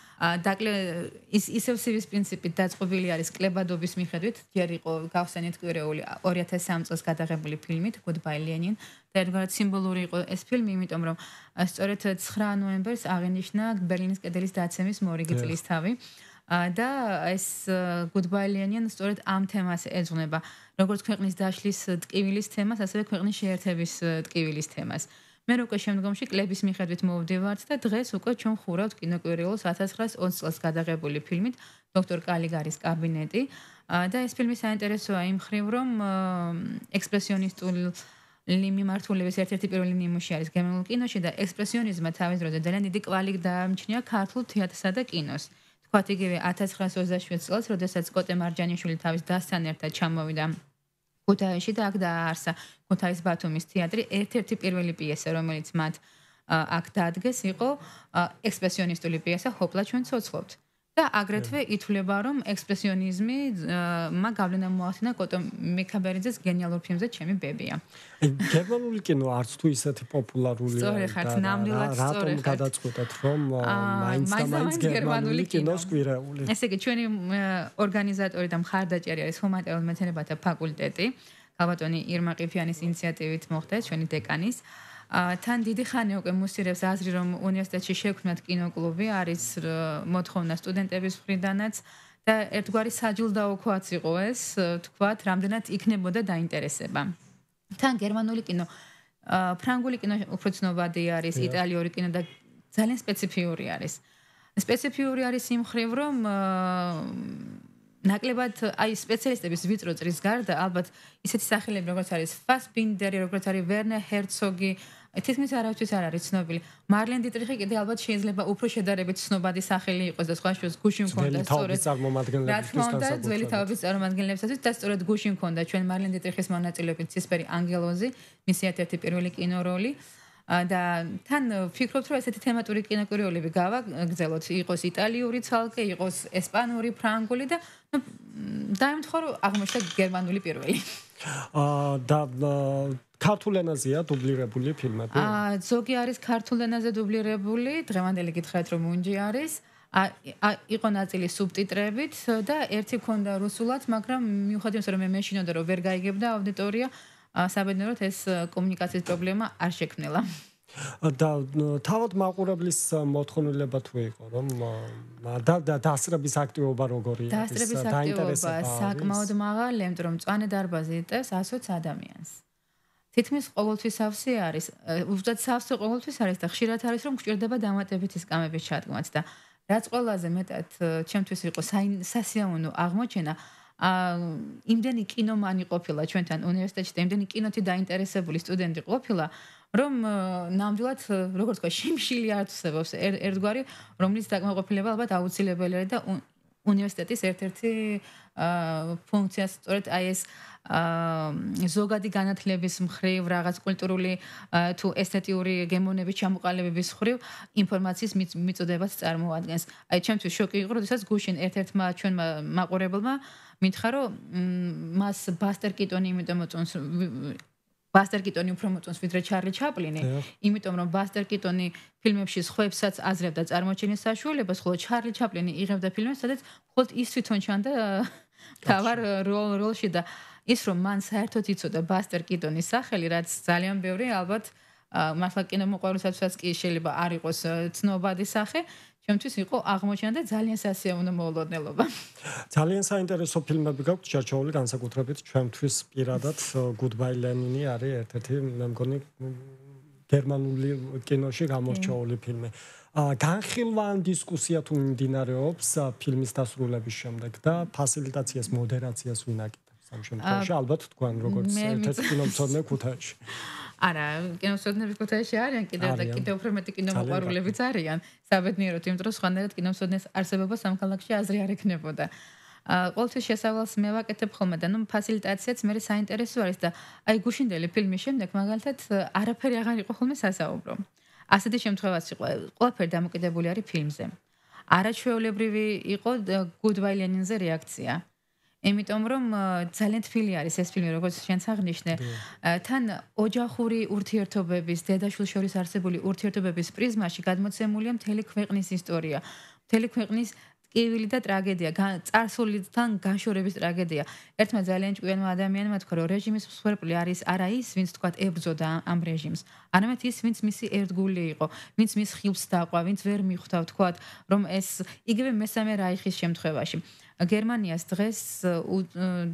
ისევ CV-ს პრინციპით დაწყობილი არის კლებადობის მიხედვით, ჯერ იყო გავხსენეთ კვირეული 2003 წელს გადაღებული ფილმით Goodbye Lenin და ერთგვარად სიმბოლური იყო ეს ფილმი, იმიტომ რომ სწორედ 9 ნოემბერს აღინიშნა ბერლინის კედლის დაცემის მორიგი წლისთავი. და ეს Goodbye Lenin სწორედ ამ თემას ეძღვნება, როგორც ქვეყნის დაშლის ტკივილის თემას, ასევე ქვეყნის შეერთების ტკივილის თემას. მე უკვე შემდგომში კლების მიხედვით მოვდივართ და დღეს უკვე ჩვენ ხურავთ კინოკვირეულს 1920 წელს გადაღებული ფილმით დოქტორ კალიგარის კაბინეტი და ეს ფილმი საინტერესოა იმ მხრივ, რომ ექსპრესიონისტული მიმართულების ერთ-ერთი პირველი ნიმუში არის გერმანულ კინოში და ექსპრესიონიზმმა თავის დროზე ძალიან დიდი კვალი დაამჩნია ქართულ თეატრსა და კინოს. თქვათ იგივე 1927 წელს, როდესაც კოტე მარჯანიშვილი თავის დასთან ერთად ჩამოვიდა ქუთაისში და აქ დააარსა ქუთაის ბათუმის თეატრი, ერთ-ერთი პირველი პიესა, რომელიც მათ აქ დაადგეს, იყო ექსპრესიონისტული პიესა "ჰოპლა ჩვენ ცოცხლობთ". და აგრეთვე ითვლება, რომ ექსპრესიონიზმი გავლენა მოახდინა კოტო მიქაბერიძეს გენიალურ ფილმზე "ჩემი ბებია". გერმანული კინო არც თუ ისეთი პოპულარულია და რატომ გადაწყვეტეთ, რომ მაინც გერმანული კინოს კვირეული? ესე იგი, ჩვენი ორგანიზატორი და მხარდაჭერი არის ჰუმანიტარულ მეცნიერებათა ფაკულტეტი. ქალბატონი ირმა ყიფიანის ინიციატივით მოხდა ჩვენი დეკანის. თან დიდი ხანი უკვე მუსირებს აზრი, რომ უნივერსიტეტში შექმნათ კინოკლუბი, არის მოთხოვნა სტუდენტების მხრიდანაც და ერთგვარი საჯილდაოქოაც იყო ეს, თქვათ, რამდენად იქნებოდა დაინტერესება. თან გერმანული კინო, ფრანგული კინო უფრო ცნობადი არის, იტალიური კინო და ძალიან სპეციფიური არის. სპეციფიური არის იმ მხრივ, რომ ნაკლებად აი სპეციალისტების ვიწრო წრის გარდა ალბათ ისეთი სახელები როგორც არის ფასბინდერი, როგორც არის ვერნერ ჰერცოგი, თითქმის არავისთვის არ არის ცნობილი. მარლენ დიტრიხი კიდე ალბათ შეიძლება უფრო შედარებით ცნობადი სახელი იყოს და სხვა შორის გუში მქონდა სწორედ ძველი თაობის წარმომადგენლებისათვის და სწორედ გუში მქონდა ჩვენ მარლენ დიტრიხის მონაწილეობით ცისფერი ანგელოზი, მისი ერთ-ერთი პირველი კინოროლი. და თან ვფიქრობთ, რომ ესეთი თემატური კინოკვირეულები გავაგრძელოთ, იყოს იტალიური ცალკე, იყოს ესპანური, ფრანგული და დაემთხვა, რომ აღმოჩნდა გერმანული პირველი. და ქართულ ენაზეა დუბლირებული ფილმები? ზოგი არის ქართულ ენაზე დუბლირებული, დღევანდელი გითხრათ, რომ უნჯი არის. იყო ნაწილი სუბტიტრებით და ერთი ქონდა რუსულად, მაგრამ მიუხედავად იმისა, რომ მე მეშინოდა, რომ ვერ გაიგებდა აუდიტორია, საბედნიეროდ ეს კომუნიკაციის პრობლემა არ შექმნილა. და თავად მაყურებლის მოთხოვნილება თუ იყო, რომ და დასწრების აქტივობა როგორი არის? დასწრების აქტივობა საკმაოდ მაღალი, იმიტომ რომ მწვანე დარბაზი იტევს 120 ადამიანს. თითქმის ყოველთვის სავსე არის, უბრალოდ სავსე ყოველთვის არის და ხშირად არის, რომ გვჭირდება დამატებითი სკამების ჩადგმაც და რაც ყველაზე მეტად ჩემთვის იყო სასიამოვნო აღმოჩენა, იმდენი კინომანი ყოფილა ჩვენთან უნივერსიტეტში და იმდენი კინოთი დაინტერესებული სტუდენტი ყოფილა, რომ ნამდვილად, როგორც თქვა, შიმშილი ართვსებობს ერთგვარი, რომლის დაკმაყოფილება ალბათ აუცილებელია და უნივერსიტეტის ერთ-ერთი ფუნქცია სწორედ აი ეს ზოგადი განათლების მხრივ, რაღაც კულტურული თუ ესთეტიური გემოვნების ჩამოყალიბების მხრივ ინფორმაციის მიწოდებას წარმოადგენს. აი ჩემთვის შოკი იყო, როდესაც გუშინ ერთ-ერთმა ჩვენმა მაყურებელმა მითხრა, რომ მას ბასტერ კიტონი იმიტომ მოწონს ბასტერ კიტონი უფრო მოწონს ვიდრე ჩარლი ჩაპლინი, იმიტომ რომ ბასტერ კიტონი ფილმებში სხვებსაც აზრებდა წარმოჩენის საშუალებას, ხოლო ჩარლი ჩაპლინი იღებდა ფილმებს, სადაც მხოლოდ ის თვითონ ჩანდა თავარ როლში და ის რომ მან საერთოდ იცოდა ბასტერ კიტონის სახელი, რაც ძალიან ბევრი ალბათ მართლა კინომოყვარულთასაც კი შეიძლება არ იყოს ცნობადი სახე, ჩემთვის იყო აღმოჩენა და ძალიან სასიამოვნო მოულოდნელობა. ძალიან საინტერესო ფილმები გაქვთ ჩარჩოული, განსაკუთრებით ჩვენთვის პირადად Goodbye Lenin არის ერთ-ერთი მე მგონი გერმანული კინოში გამორჩეული ფილმი. განხილვან დისკუსია თუ მიმდინარეობს ფილმის დასრულების შემდეგ და ფასილიტაციას, მოდერაციას ვინ აკეთებს ამ შემთხვევაში? ალბათ თქვენ როგორც ერთ-ერთი კინომცოდნე ქუთაისში. არა, კინომცოდნები ქუთაისში არიან კიდევ უფრო მეტი კინომოყვარულებიც არიან. საბედნიეროდ, იმიტომ რომ სხვანაირად კინომცოდნეს არსებობა სამხალხში აზრი არ ექნებოდა. ყოველთვის შესავალს მე ვაკეთებ ხოლმე და ფასილიტაციაც მე საინტერესო არის და აი გუშინდელი ფილმის შემდეგ მაგალითად არაფერი აღარ იყო ხოლმე სასაუბრო. ასეთი შემთხვევაც იყო, ყველაფერი დამოკიდებული არის ფილმზე. არაჩვეულებრივი იყო Goodbye Lenin-ზე რეაქცია. იმიტომ რომ ძალიან თბილი არის ეს ფილმი, როგორც შენც აღნიშნე. თან ოჯახური ურთიერთობების, დედა-შვილ შორის არსებული ურთიერთობების პრიზმაში გადმოცემულია მთელი ქვეყნის ისტორია. მთელი ქვეყნის ტკივილი და ტრაგედია, წარსულიდან განშორების ტრაგედია. ერთმა ძალიან ჭკვიანმა ადამიანმა თქვა, რომ რეჟიმის მსხვერპლი არის არა ის, ვინც თქვა ებრძოდა ამ რეჟიმს, არამედ ის, ვინც მისი ერთგული იყო, ვინც მის ხილს დაყვა, ვინც ვერ მიხვდა თქვა, რომ ეს იგივე მესამე რაიხის შემთხვევაში. გერმანიას დღეს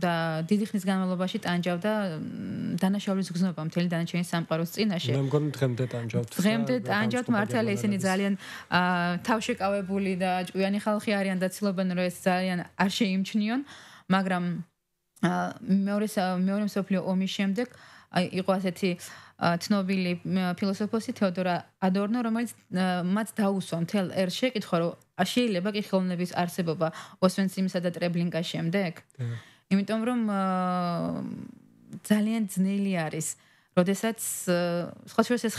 და დიდი ხნის განმავლობაში ტანჯავდა დანაშაულის გზნობა მთელი დანარჩენი სამყაროს წინაშე. მე მგონი დღემდე ტანჯავთ. დღემდე ტანჯავთ მართალია ისინი ძალიან თავშეკავებული და ჭკვიანი ხალხი არიან და ცდილობენ რომ ეს ძალიან არ შეიმჩნიონ, მაგრამ მეორე მსოფლიო ომის შემდეგ იყო ასეთი ცნობილი ფილოსოფოსი თეოდორ ადორნო, რომელიც მათ დაუსვა მთელ ერს შეკითხვა, რომ შეიძლება კი ხელოვნების არსებობა ოსვენციმისა და ტრებლინკას შემდეგ? იმიტომ რომ ძალიან ძნელი არის, როდესაც სხვა შორის ეს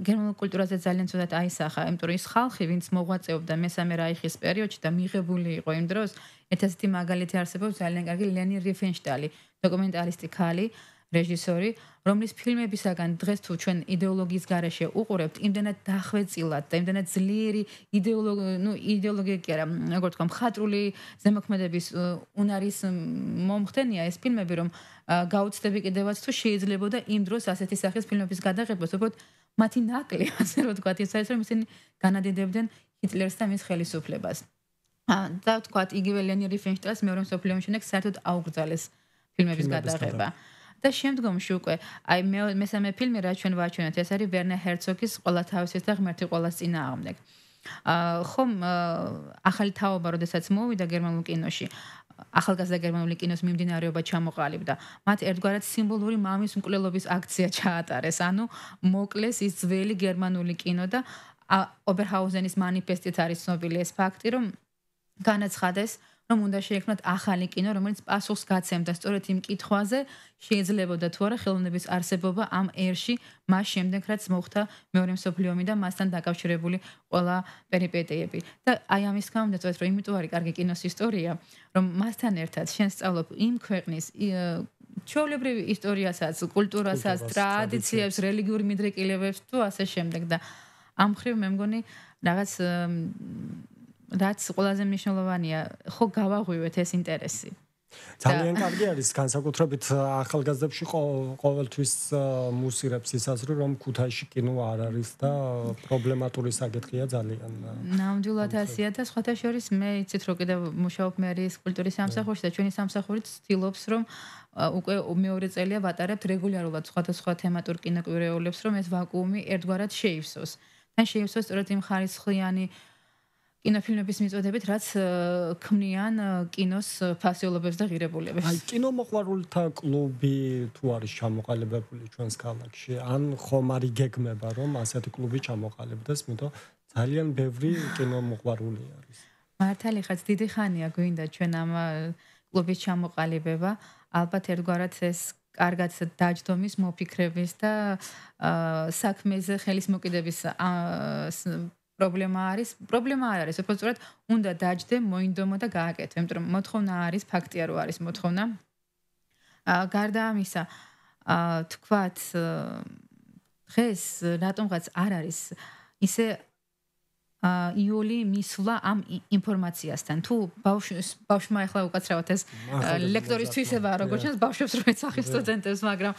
გერმანულ კულტურაზე ძალიან ცუდად აისახა, იმიტომ რომ ის ხალხი, ვინც მოღვაწეობდა მესამე რაიხის პერიოდში და მიღებული იყო იმ დროს, ერთ-ერთი მაგალითი არსებობს ძალიან კარგი ლენი რიფენშტალი, დოკუმენტალისტი ქალი, რეჟისორი, რომლის ფილმებისაგან დღეს თუ ჩვენ იდეოლოგიის გარეშე უყურებთ, იმდენად დახვეწილად და იმდენად ძლიერი იდეოლოგია კი არა, როგორ თქვა, მხატვრული ზემოქმედების უნარის მომხდენია ეს ფილმები, რომ გაუცდები კიდევაც თუ შეიძლებოდა იმ დროს ასეთი სახის ფილმების გადაღება, უბრალოდ მათი ნაკლი, ასე რომ ვთქვათ, ის არის, რომ ისინი განადიდებდნენ ჰიტლერს და მის ხელისუფლებას. და ვთქვათ, იგივე ლენი რიფენშტაილს მეორე მსოფლიო ომის შემდეგ საერთოდ აუგრძალეს ფილმების გადაღება. და შემდგომში უკვე აი მესამე ფილმი რაც ჩვენ ვაჩვენეთ, ეს არის ვერნერ ჰერცოგის ყველა თავისის და ღმერთი ყველას წინააღმდეგ. ხომ ახალი თაობა, როდესაც მოვიდა გერმანულ კინოში, ახალგაზრდა გერმანული კინოს მიმდინარეობა ჩამოყალიბდა. მათ ერთგვარად სიმბოლური მამის მკვლელობის აქცია ჩაატარეს, ანუ მოკლეს ის ძველი გერმანული კინო და ობერჰაუზენის მანიფესტით არის ცნობილი ეს ფაქტი, რომ განაცხადეს, რომ უნდა შეექმნათ ახალი კინო, რომელიც პასუხს გაცემდა სწორედ იმ კითხვაზე, შეიძლებოდა თუ არა ხელოვნების არსებობა ამ ერში, მას შემდეგ რაც მოხდა მეორე მსოფლიო ომი და მასთან დაკავშირებული ყველა პერიპეტიები. და აი ამის გამო და სწორედ რომ იმიტომ არის კარგი კინოს ისტორია, რომ მასთან ერთად შენ სწავლობ იმ ქვეყნის ჩვეულებრივ ისტორიასაც, კულტურასაც, ტრადიციებს, რელიგიურ მიდრეკილებებს თუ ასე შემდეგ და ამ ხრივ მე მგონი რაღაც რაც ყველაზე მნიშვნელოვანია, ხო გავაღვივეთ ეს ინტერესი. ძალიან კარგი არის განსაკუთრებით ახალგაზრდებში ყოველთვის მუსირებს ის აზრი, რომ ქუთაისში კინო არ არის და პრობლემატური საკითხია ძალიან. ნამდვილად ასეა და სხვათა შორის მე იცით რომ კიდევ მუშაობ მე არის კულტურის სამსახურში და ჩვენი სამსახურით ცდილობს რომ უკვე მეორე წელია ვატარებთ რეგულარულად სხვადასხვა თემატურ კინოკვირეულებს, რომ ეს ვაკუუმი ერთგვარად შეივსოს. და შეივსოს სწორედ იმ ხარისხიანი კინოფილმების მიწოდებით, რაც ქმნიან კინოს ფასეულობებს და ღირებულებებს. აი, კინომოყვარულთა კლუბი თუ არის ჩამოყალიბებული ჩვენს ქალაქში, ან ხომ არ იგეგმება, რომ ასეთი კლუბი ჩამოყალიბდეს, იმიტომ ძალიან ბევრი კინომოყვარული არის. მართალი ხაც დიდი ხანია გვინდა ჩვენ ამ კლუბის ჩამოყალიბება, ალბათ ერთგვარად ეს კარგად დაჯდომის მოფიქრების და საქმეზე ხელისმოკიდების პრობლემა არის, უფრო სწორად უნდა დაჯდე, მოინდომო და გააკეთო, იმიტომ რომ მოთხოვნა არის, ფაქტია რომ არის მოთხოვნა. გარდა ამისა, თქვათ დღეს რატომღაც არ არის ისე იოლი მისვლა ამ ინფორმაციასთან. თუ ბავშვმა ახლა უკაცრავად ეს ლექტორისთვისება როგორც ჩანს, ბავშვებს რო ეცახის სტუდენტებს, მაგრამ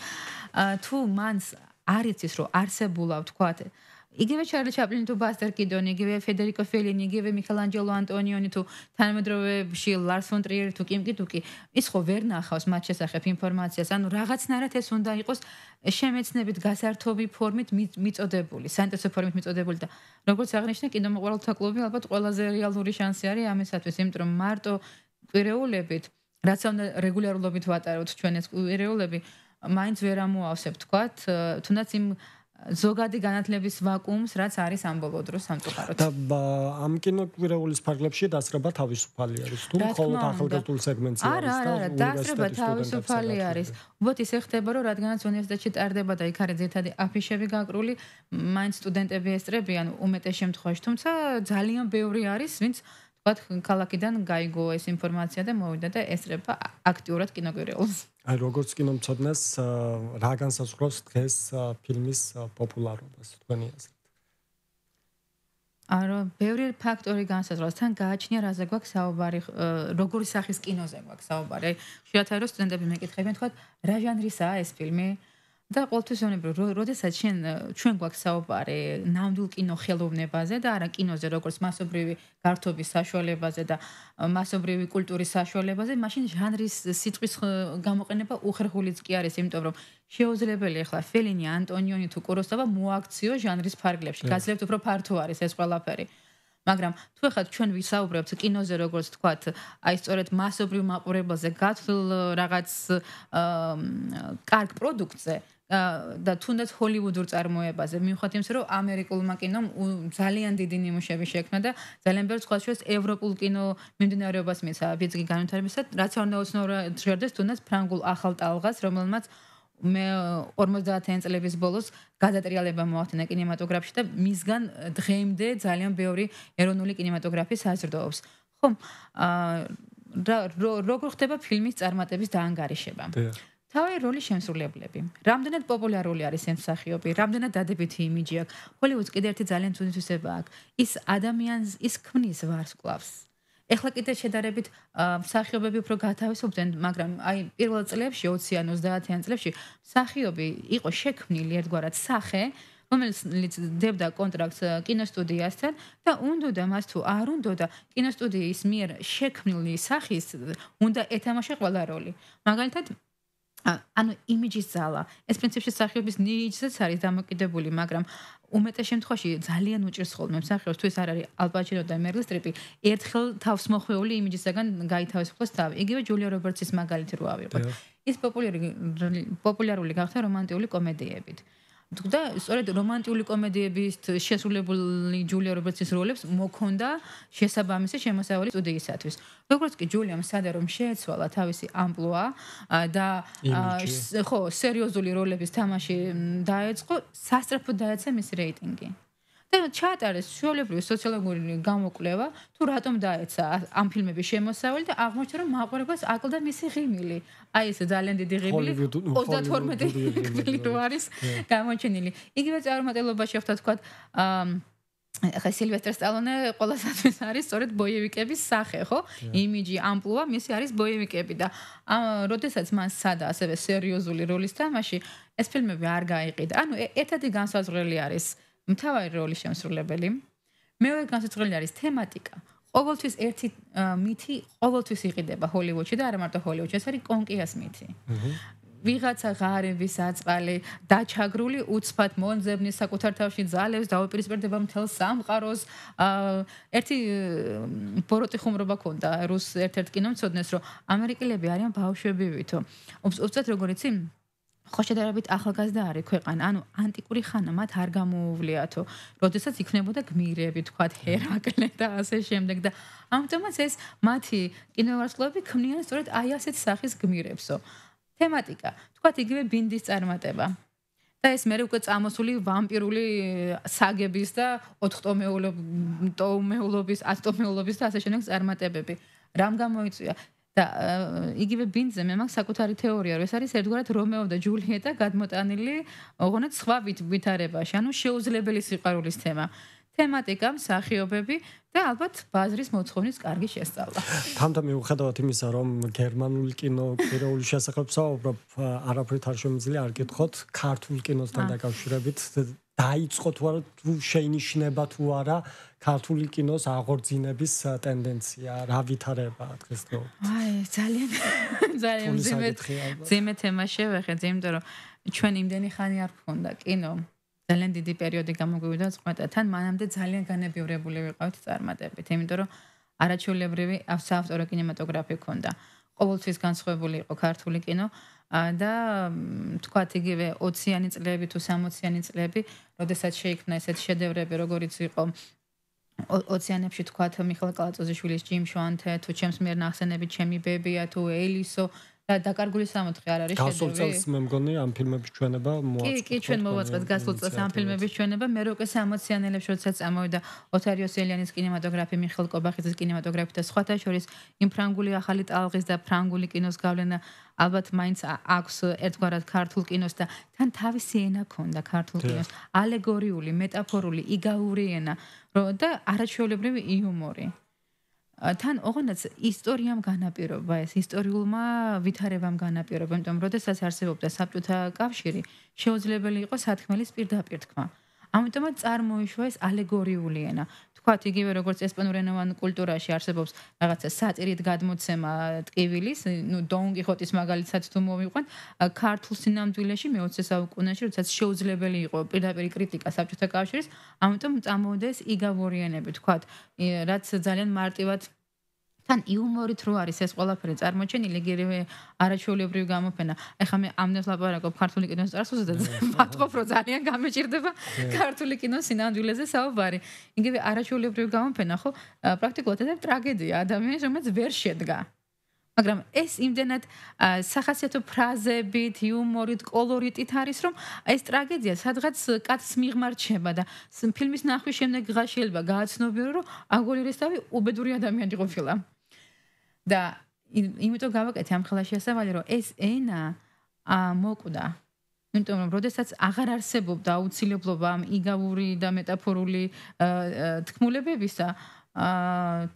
თუ მანს არ იცის რომ არსებულა, თქვათ იგივე ჩარლი ჩაპლინი თუ ბასტერ კიდონი, იგივე ფედერიკო ფელინი, იგივე მიქელანჯელო ანტონიონი თუ თანამედროვეებში ლარს ფონ ტრიერი თუ კიმ კიტუკი, ის ხო ვერ ნახავს მათ შესახებ ინფორმაციას, ანუ რაღაცნაირად ეს უნდა იყოს შემეცნებით გასართობი ფორმით მიწოდებული, საინტერესო ფორმით მიწოდებული და როგორც აღნიშნე, კინომოყვარულთა კლუბი ალბათ ყველაზე რეალური შანსი არის ამისათვის, იმიტომ რომ მარტო კვირეულებით, რაც უნდა რეგულარულად ვატარებთ ჩვენ ეს კვირეულები, მაინც ვერ ამოავსებ, თქვათ, თუნდაც იმ ზოგადი განათლების ვაკუუმს, რაც არის ამ ბოლო დროს სამწუხაროდ. და ამ კინოკვირეულის ფარგლებში დასწრება თავისუფალი არის. თუ მხოლოდ ახალგაზრდულ სეგმენტზე არის და დასწრება თავისუფალი არის. უბრალოდ ისე ხდება, რომ რადგანაც უნივერსიტეტში ტარდება და იქ არის ძირითადი აფიშები გაკრული, მაინც სტუდენტები ესწრებიან უმეტეს შემთხვევაში, თუმცა ძალიან ბევრი არის, ვინც ვთქვათ, ქალაქიდან გაიგო ეს ინფორმაცია და მოვიდა და ესწრება აქტიურად კინოკვირეულს. აი როგორც კინომცოდნეს რა განსაზღვრავს დღეს ფილმის პოპულარობას თქვენი აზრით? არა, ბევრი ფაქტორი განსაზღვრავს. თან გააჩნია რაზე გვაქვს საუბარი, როგორი სახის კინოზე გვაქვს საუბარი. ხშირად არის სტუდენტები მეკითხებიან, თქვათ, რა ჟანრისაა ეს ფილმი? და ყოველთვის ზონებრივ, როდესაც ჩვენ გვაქვს საუბარი ნამდვილ კინოხელოვნებაზე და არა კინოზე, როგორც მასობრივი გართობის საშუალებაზე და მასობრივი კულტურის საშუალებაზე, მაშინ ჟანრის სიტყვის გამოყენება უხერხულიც კი არის, იმიტომ რომ შეუძლებელი ახლა ფელინი, ანტონიონი თუ კუროსავა მოაქციო ჟანრის ფარგლებში. გაძლევთ უფრო ფართო არის ეს ყველაფერი. მაგრამ თუ ახლა ჩვენ ვისაუბრებთ კინოზე, როგორც თქვათ, აი სწორედ მასობრივ მაყურებელზე, გათვლილ რაღაც კარგ პროდუქტზე და თუნდაც ჰოლივუდურ წარმოებაზე, მიუხედავად იმისა, რომ ამერიკულმა კინომ ძალიან დიდი ნიმუშები შექმნა და ძალიან ბევრ სხვა შორის ევროპულ კინო მიმდინარეობას მისცა ბიძგი განვითარებისა, რაც არ უნდა უცნაურად ჟღერდეს თუნდაც ფრანგულ ახალ ტალღას, რომელმაც მე 50-იან წლების ბოლოს გადატრიალება მოახდინა კინემატოგრაფში და მისგან დღემდე ძალიან ბევრი ეროვნული კინემატოგრაფი საზრდოობს. ხომ, როგორ ხდება ფილმის წარმატების დაანგარიშება? თავი როლის შემსრულებლები. რამდენად პოპულარული არის ეს მსახიობი, რამდენად დადებითი იმიჯი აქვს. ჰოლივუდს კიდევ ერთი ძალიან ცუდი თვისება აქვს. ის ადამიანს ის ქმნის ვარსკვლავს. ეხლა კიდე შედარებით მსახიობები უფრო გათავისუფლდნენ, მაგრამ აი პირველ წლებში 20-იან 30-იან წლებში მსახიობი იყო შექმნილი ერთგვარად სახე, რომელიც დებდა კონტრაქტს კინოსტუდიასთან და უნდოდა მას თუ არ უნდოდა კინოსტუდიის მიერ შექმნილი სახის უნდა ეთამაშა ყველა როლი. მაგალითად ანუ იმიჯის ძალა. ეს პრინციპში მსახიობის ნიჭზეც არის დამოკიდებული, მაგრამ უმეტეს შემთხვევაში ძალიან უჭირს ხოლმე მსახიობს, თუ ეს არ არის ალ პაჩინო და მერილ სტრიპი, ერთხელ თავს მოხვეული იმიჯისაგან გაითავისუფლოს თავი. იგივე ჯულია რობერტსის მაგალითი რო ავიღოთ. ის პოპულარული გახდა რომანტიკული კომედიებით. და სწორედ რომანტიკული კომედიების შესრულებული ჯულია რობერტსის როლებს მოქონდა შესაბამისი შემოსავალი სტუდიისათვის. როგორც კი ჯულიამ სადა რომ შეეცვალა თავისი ამპლუა და ხო, სერიოზული როლების თამაში დაეწყო, სასწრაფოდ დაეცა მისი რეიტინგი. და ჩაატარეს ჩვეულებრივი სოციოლოგიური გამოკვლევა, თუ რატომ დაეცა ამ ფილმების შემოსავალი და აღმოჩნდა, რომ მაყურებელს აკლდა მისი ღიმილი. აი ეს ძალიან დიდი ღიმილი 32 ღიმილი რო არის გამოჩენილი. იგივე წარმატებაში ხდა თქვა ახლა სილვესტერ სტალონე ყველასათვის არის სწორედ ბოიევიკების სახე, ხო? იმიჯი, ამპლუა, მისი არის ბოიევიკები და როდესაც მან სადა ასევე სერიოზული როლის თამაში, ეს ფილმები არ გაიყიდა. ანუ ერთადი განსაზღვრელი არის მთავარი როლის შემსრულებელი. მეორე განსაზღვრელი არის თემატიკა. ყოველთვის ერთი მითი ყოველთვის იყიდება ჰოლივუდში და არა მარტო ჰოლივუდში, ეს არის კონკიას მითი. ვიღაცა ღარიბის აწყალი, დაჩაგრული უცბად მონძებნის საკუთარ თავში ძალებს დაუპირისპირდება მთელ სამყაროს. ერთი ბოროტი ხუმრობა ქონდა რუს ერთ-ერთ კინომცოდნეს, რომ ამერიკელები არიან ბავშვები ვითო. უბრალოდ როგორ იცი? ხო შედარებით ახალგაზრდა არის ქვეყანა, ანუ ანტიკური ხანა მათ არ გამოუვლიათო, როდესაც იქნებოდა გმირები, თქვათ ჰერაკლე და ასე შემდეგ და ამიტომაც ეს მათი კინოვარსკვლავები ქმნიან სწორედ აი ასეთ სახის გმირებსო. თემატიკა, თქვათ იგივე ბინდის წარმატება. და ეს მე უკვე წამოსული ვამპირული საგების და 4-ტომეულობის, 10-ტომეულობის და ასე შემდეგ წარმატებები. რამ გამოიწვია? და იგივე ბინძზე მე მაქვს საკუთარი თეორია, რომ ეს არის ერთგვარად რომეო და ჯულიეტა გადმოტანილი ოღონდ სხვა ვითარებაში, ანუ შეუძლებელი სიყვარულის თემა. თემატიკა, მსახიობები და ალბათ ბაზრის მოთხოვნის კარგი შესწავლა. თამთა მიუხედავად იმისა, რომ გერმანული კინოკვირეულის შესახებ საუბრობ, არაფრით არ შემიძლია არ გითხოთ ქართულ კინოსთან დაკავშირებით დაიწყო თუ არა, თუ შეინიშნება თუ არა ქართული კინოს აღორძინების ტენდენცია, რა ვითარებაა დღესდღეობით? აი, ძალიან ძიმე თემა შევეხეთ, იმიტომ რომ ჩვენ იმდენი ხანი არ გქონდა კინო. ძალიან დიდი პერიოდი გამოგვივიდა წყვეტა, თან მანამდე ძალიან განებივრებული ვიყავით წარმატებით, იმიტომ რომ არაჩვეულებრივი საავტორო კინემატოგრაფი ქონდა. ყოველთვის განსხვავებული იყო ქართული კინო. და თქვათ იგივე 20-იანი წლები თუ 60-იანი წლები, როდესაც შეიქმნა ესეთი შედევრები, როგორიც იყო 20-იანებში თქვათ მიხეილ კალატოზიშვილის ჯიმ შოანთე, თუ ჩემს მიერ ნახსენები ჩემი ბებია, თუ ელისო და დაკარგული სამოთხე არ არის შედევრი. გასულ წელს მე მგონი ამ ფილმების ჩვენება მოაწყდა. კი, ჩვენ მოვაწყეთ გასულ წელს ამ ფილმების ჩვენება. მე რო უკვე 60-იანელებში როდესაც წამოვიდა ოთარიო სელიანის კინემატოგრაფი, მიხეილ კობახიძის კინემატოგრაფი და სხვათა შორის იმ ფრანგული ახალი ტალღის და ფრანგული კინოს გავლენა ალბათ მაინც აქვს ერთგვარად ქართულ კინოს და თან თავისი ენა ქონდა ქართულ კინოს, ალეგორიული, მეტაფორული, იგავური ენა და არაჩვეულებრივი იუმორი. თან ოღონდ ისტორიამ განაპირობა ეს ისტორიულმა ვითარებამ განაპირობა, იმიტომ რომ როდესაც არსებობდა საბჭოთა კავშირი, შეუძლებელი იყო სათქმელის პირდაპირ თქმა. ამიტომაც წარმოიშვა ეს ალეგორიული ენა. თქვათ იგივე როგორც ესპანურენოვან კულტურაში არსებობს რაღაცა სატირით გადმოცემა ტკივილის, დონ კიხოტის მაგალითად თუ მოვიყვანთ, ქართულ სინამდვილეში მე-20 საუკუნეში, როდესაც შეუძლებელი იყო პირდაპირ კრიტიკა საბჭოთა კავშირის, ამიტომ წამოვიდა ეს იგავური ენები, თქვათ, რაც ძალიან მარტივად თან იუმორით რო არის ეს ყველაფერი წარმოჩენილი, იგივე არაჩვეულებრივი გამოფენა. ეხლა მე ამდენს ლაპარაკობ ქართული კინოს წარსულზე და ვატყობ, რომ ძალიან გამეჭირდება ქართული კინოს სინამდვილეზე საუბარი. იგივე არაჩვეულებრივი გამოფენა, ხო, პრაქტიკულად ეს ტრაგედია ადამიანის, რომელიც ვერ შედგა. მაგრამ ეს იმდენად სახასიათო ფრაზებით, იუმორით, კოლორიტით არის, რომ ეს ტრაგედია სადღაც კაცს მიღმარჩება და ფილმის ნახვის შემდეგ ღაშიელება გააცნობიერო, რომ აგოლირესტავი უბედური ადამიანი ყოფილა. და იმიტომ გავაკეთე ამ ხელაში ასავალი, რომ ეს ენა მოკვდა. იმიტომ რომ როდესაც აღარ არსებობდა აუცილებლობა ამ იგავური და მეტაფორული თქმულებებისა,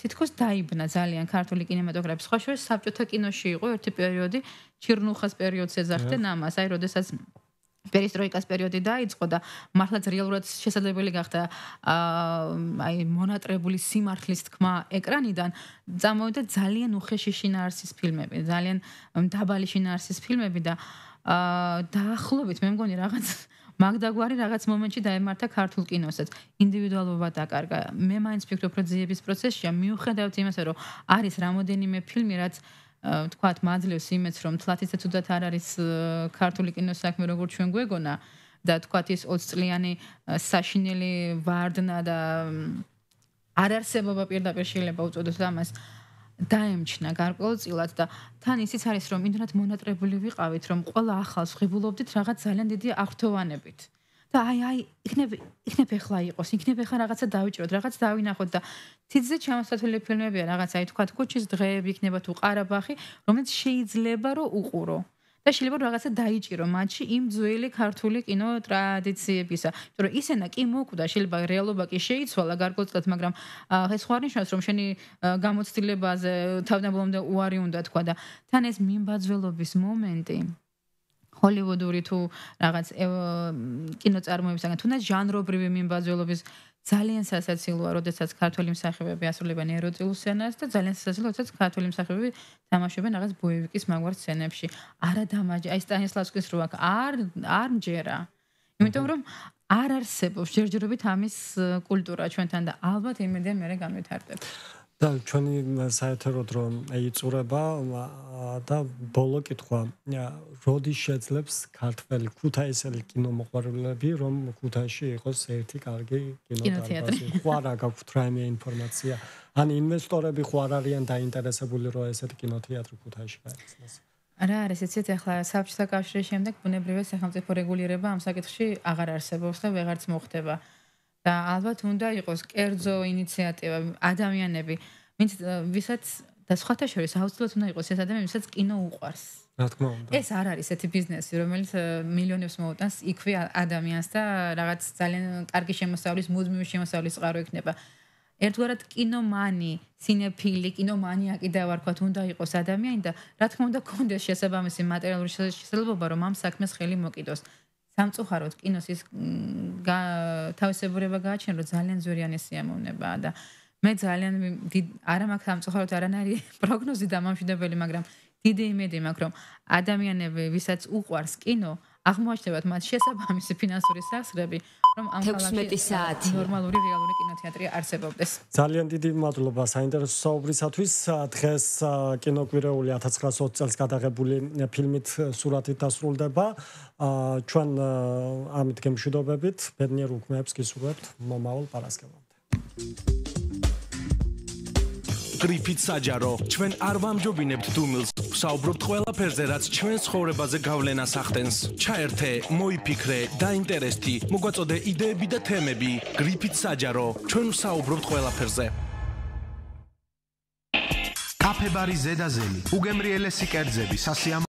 თითქოს დაიბნა ძალიან ქართული კინემატოგრაფი. სხვა შორის საბჭოთა კინოში იყო ერთი პერიოდი, ჩირნუხას პერიოდს ეძახდნენ ამას, აი როდესაც პერისტროიკას პერიოდი დაიწყო და მართლაც რეალურად შესაძლებელი გახდა აი მონატრებული სიმართლის თქმა ეკრანიდან, წამოვიდა ძალიან უხეში შინაარსის ფილმები, ძალიან დაბალი შინაარსის ფილმები და დაახლოებით მე მგონი რაღაც მაგდაგვარი რაღაც მომენტში დაემართა ქართულ კინოსაც. ინდივიდუალობა დაკარგა. მე მაინც ვფიქრობ, რომ ძიების პროცესშია მიუხედავად იმისა, რომ არის რამოდენიმე ფილმი, რაც თქვათ მაძლევს იმედს, რომ თლათისა თუდად არ არის ქართული კინოს საქმე, როგორც ჩვენ გვეგონა და თქვათ ის 20 წლიანი საშინელი ვარდნა და არარსებობა პირდაპირ შეიძლება უწოდოთ ამას. დაემჩნა გარკვეულწილად და თან ისიც არის, რომ იმდენად მონატრებული ვიყავით, რომ ყველა ახალს ღებულობდით რაღაც ძალიან დიდი აღრთოვანებით. და აი იქნებ ეხლა იყოს, იქნებ ეხლა რაღაცა დავიჭროთ, რაღაც დავინახოთ და თითზე ჩამოსათვლელი ფილმებია, რაღაც აი თქვათ კუჩის დღეები იქნება თუ ყარაბაღი, რომელიც შეიძლება რომ უყურო. და შეიძლება რომ რაღაცა დაიჭირო მათში იმ ძველი ქართული კინო ტრადიციებისა. იმიტომ რომ ისენა კი მოკვდა, შეიძლება რეალობა კი შეიცვალა გარკვეულწილად, მაგრამ ეს ხო არ ნიშნავს, რომ შენი გამოცდილებაზე თავდაპირველად უარი უნდა თქვა და თან ეს მიმბაძველობის მომენტი ჰოლივუდური თუ რაღაც კინოწარმოებისგან თუნდაც ჟანრობრივი მიმბაძველობის ძალიან სასაცილოა, როდესაც ქართველი მსახიობები ასრულებენ ეროტიულ სცენას და ძალიან სასაცილოა, როდესაც ქართველი მსახიობები თამაშობენ რაღაც ბოევიკის მაგვარ სცენებში. არა დამაჯა, აი სტანისლავსკის რო აქ არ მჯერა. იმიტომ რომ არ არსებობს ჯერჯერობით ამის კულტურა ჩვენთან და ალბათ იმედია მე განვითარდება. და ჩვენი საერთოდ რომ ეიწურება და ბოლო კითხვა, როდის შეძლებს ქართველი ქუთაისელი კინომოყვარულები, რომ ქუთაისში იყოს ერთი კარგი კინოთეატრი? ხო არა გაქვთ რაიმე ინფორმაცია? ან ინვესტორები ხო არ არიან დაინტერესებული, რომ ესეთი კინოთეატრი ქუთაისში გაიხსნას? რა არის იცით, ახლა საბჭოთა კავშირის შემდეგ ბუნებრივია სახელმწიფო რეგულირება ამ საკითხში აღარ არსებობს და ვეღარც მოხდება. და ალბათ უნდა იყოს კერძო ინიციატივა, ადამიანები, ვისაც და სხვათა შორის აუცილებლად უნდა იყოს ეს ადამიანი, ვისაც კინო უყვარს. რა თქმა უნდა. ეს არ არის ესეთი ბიზნესი, რომელიც მილიონებს მოუტანს იქვე ადამიანს და რაღაც ძალიან კარგი შემოსავლის, მუდმივი შემოსავლის წყარო იქნება. ერთგვარად კინომანი, სინეფილი, კინომანიაკი დავარქვათ, უნდა იყოს ადამიანი და რა თქმა უნდა კონდეს შესაბამისი მატერიალური შესაძლებლობა, რომ ამ საქმეს ხელი მოკიდოს. სამწუხაროდ კინოს ის თავისებურება გააჩნია, რომ ძალიან ზვირიანი სიამოვნებაა და მე ძალიან არა მაქვს სამწუხაროდ არანაირი პროგნოზი დამამშვიდებელი, მაგრამ დიდი იმედი მაქვს, რომ ადამიანები, ვისაც უყვარს კინო, აღმოაჩნდებათ მათ შესაბამისი ფინანსური სახსრები, რომ ამ ქალაქში ნორმალური რეალური კინოთეატრი არსებობდეს. ძალიან დიდი მადლობა საინტერესო საუბრისათვის. დღეს კინოკვირეული 1920 წელს გადაღებული ფილმით სურათით დასრულდება. ჩვენ ამით გემშვიდობებით, ბედნიერ უქმეებს გისურვებთ მომავალ პარასკევამდე. გრიფით საჯარო, ჩვენ არ ვამჯობინებთ დუმილს, ვსაუბრობთ ყველაფერზე, რაც ჩვენ ცხოვრებაზე გავლენას ახდენს. ჩაერთე, მოიფიქრე, დაინტერესდი, მოგვაწოდე იდეები და თემები. გრიფით საჯარო, ჩვენ ვსაუბრობთ ყველაფერზე. კაფე ბარი ზედაზელი, უგემრიელესი კერძები, სასიამოვნო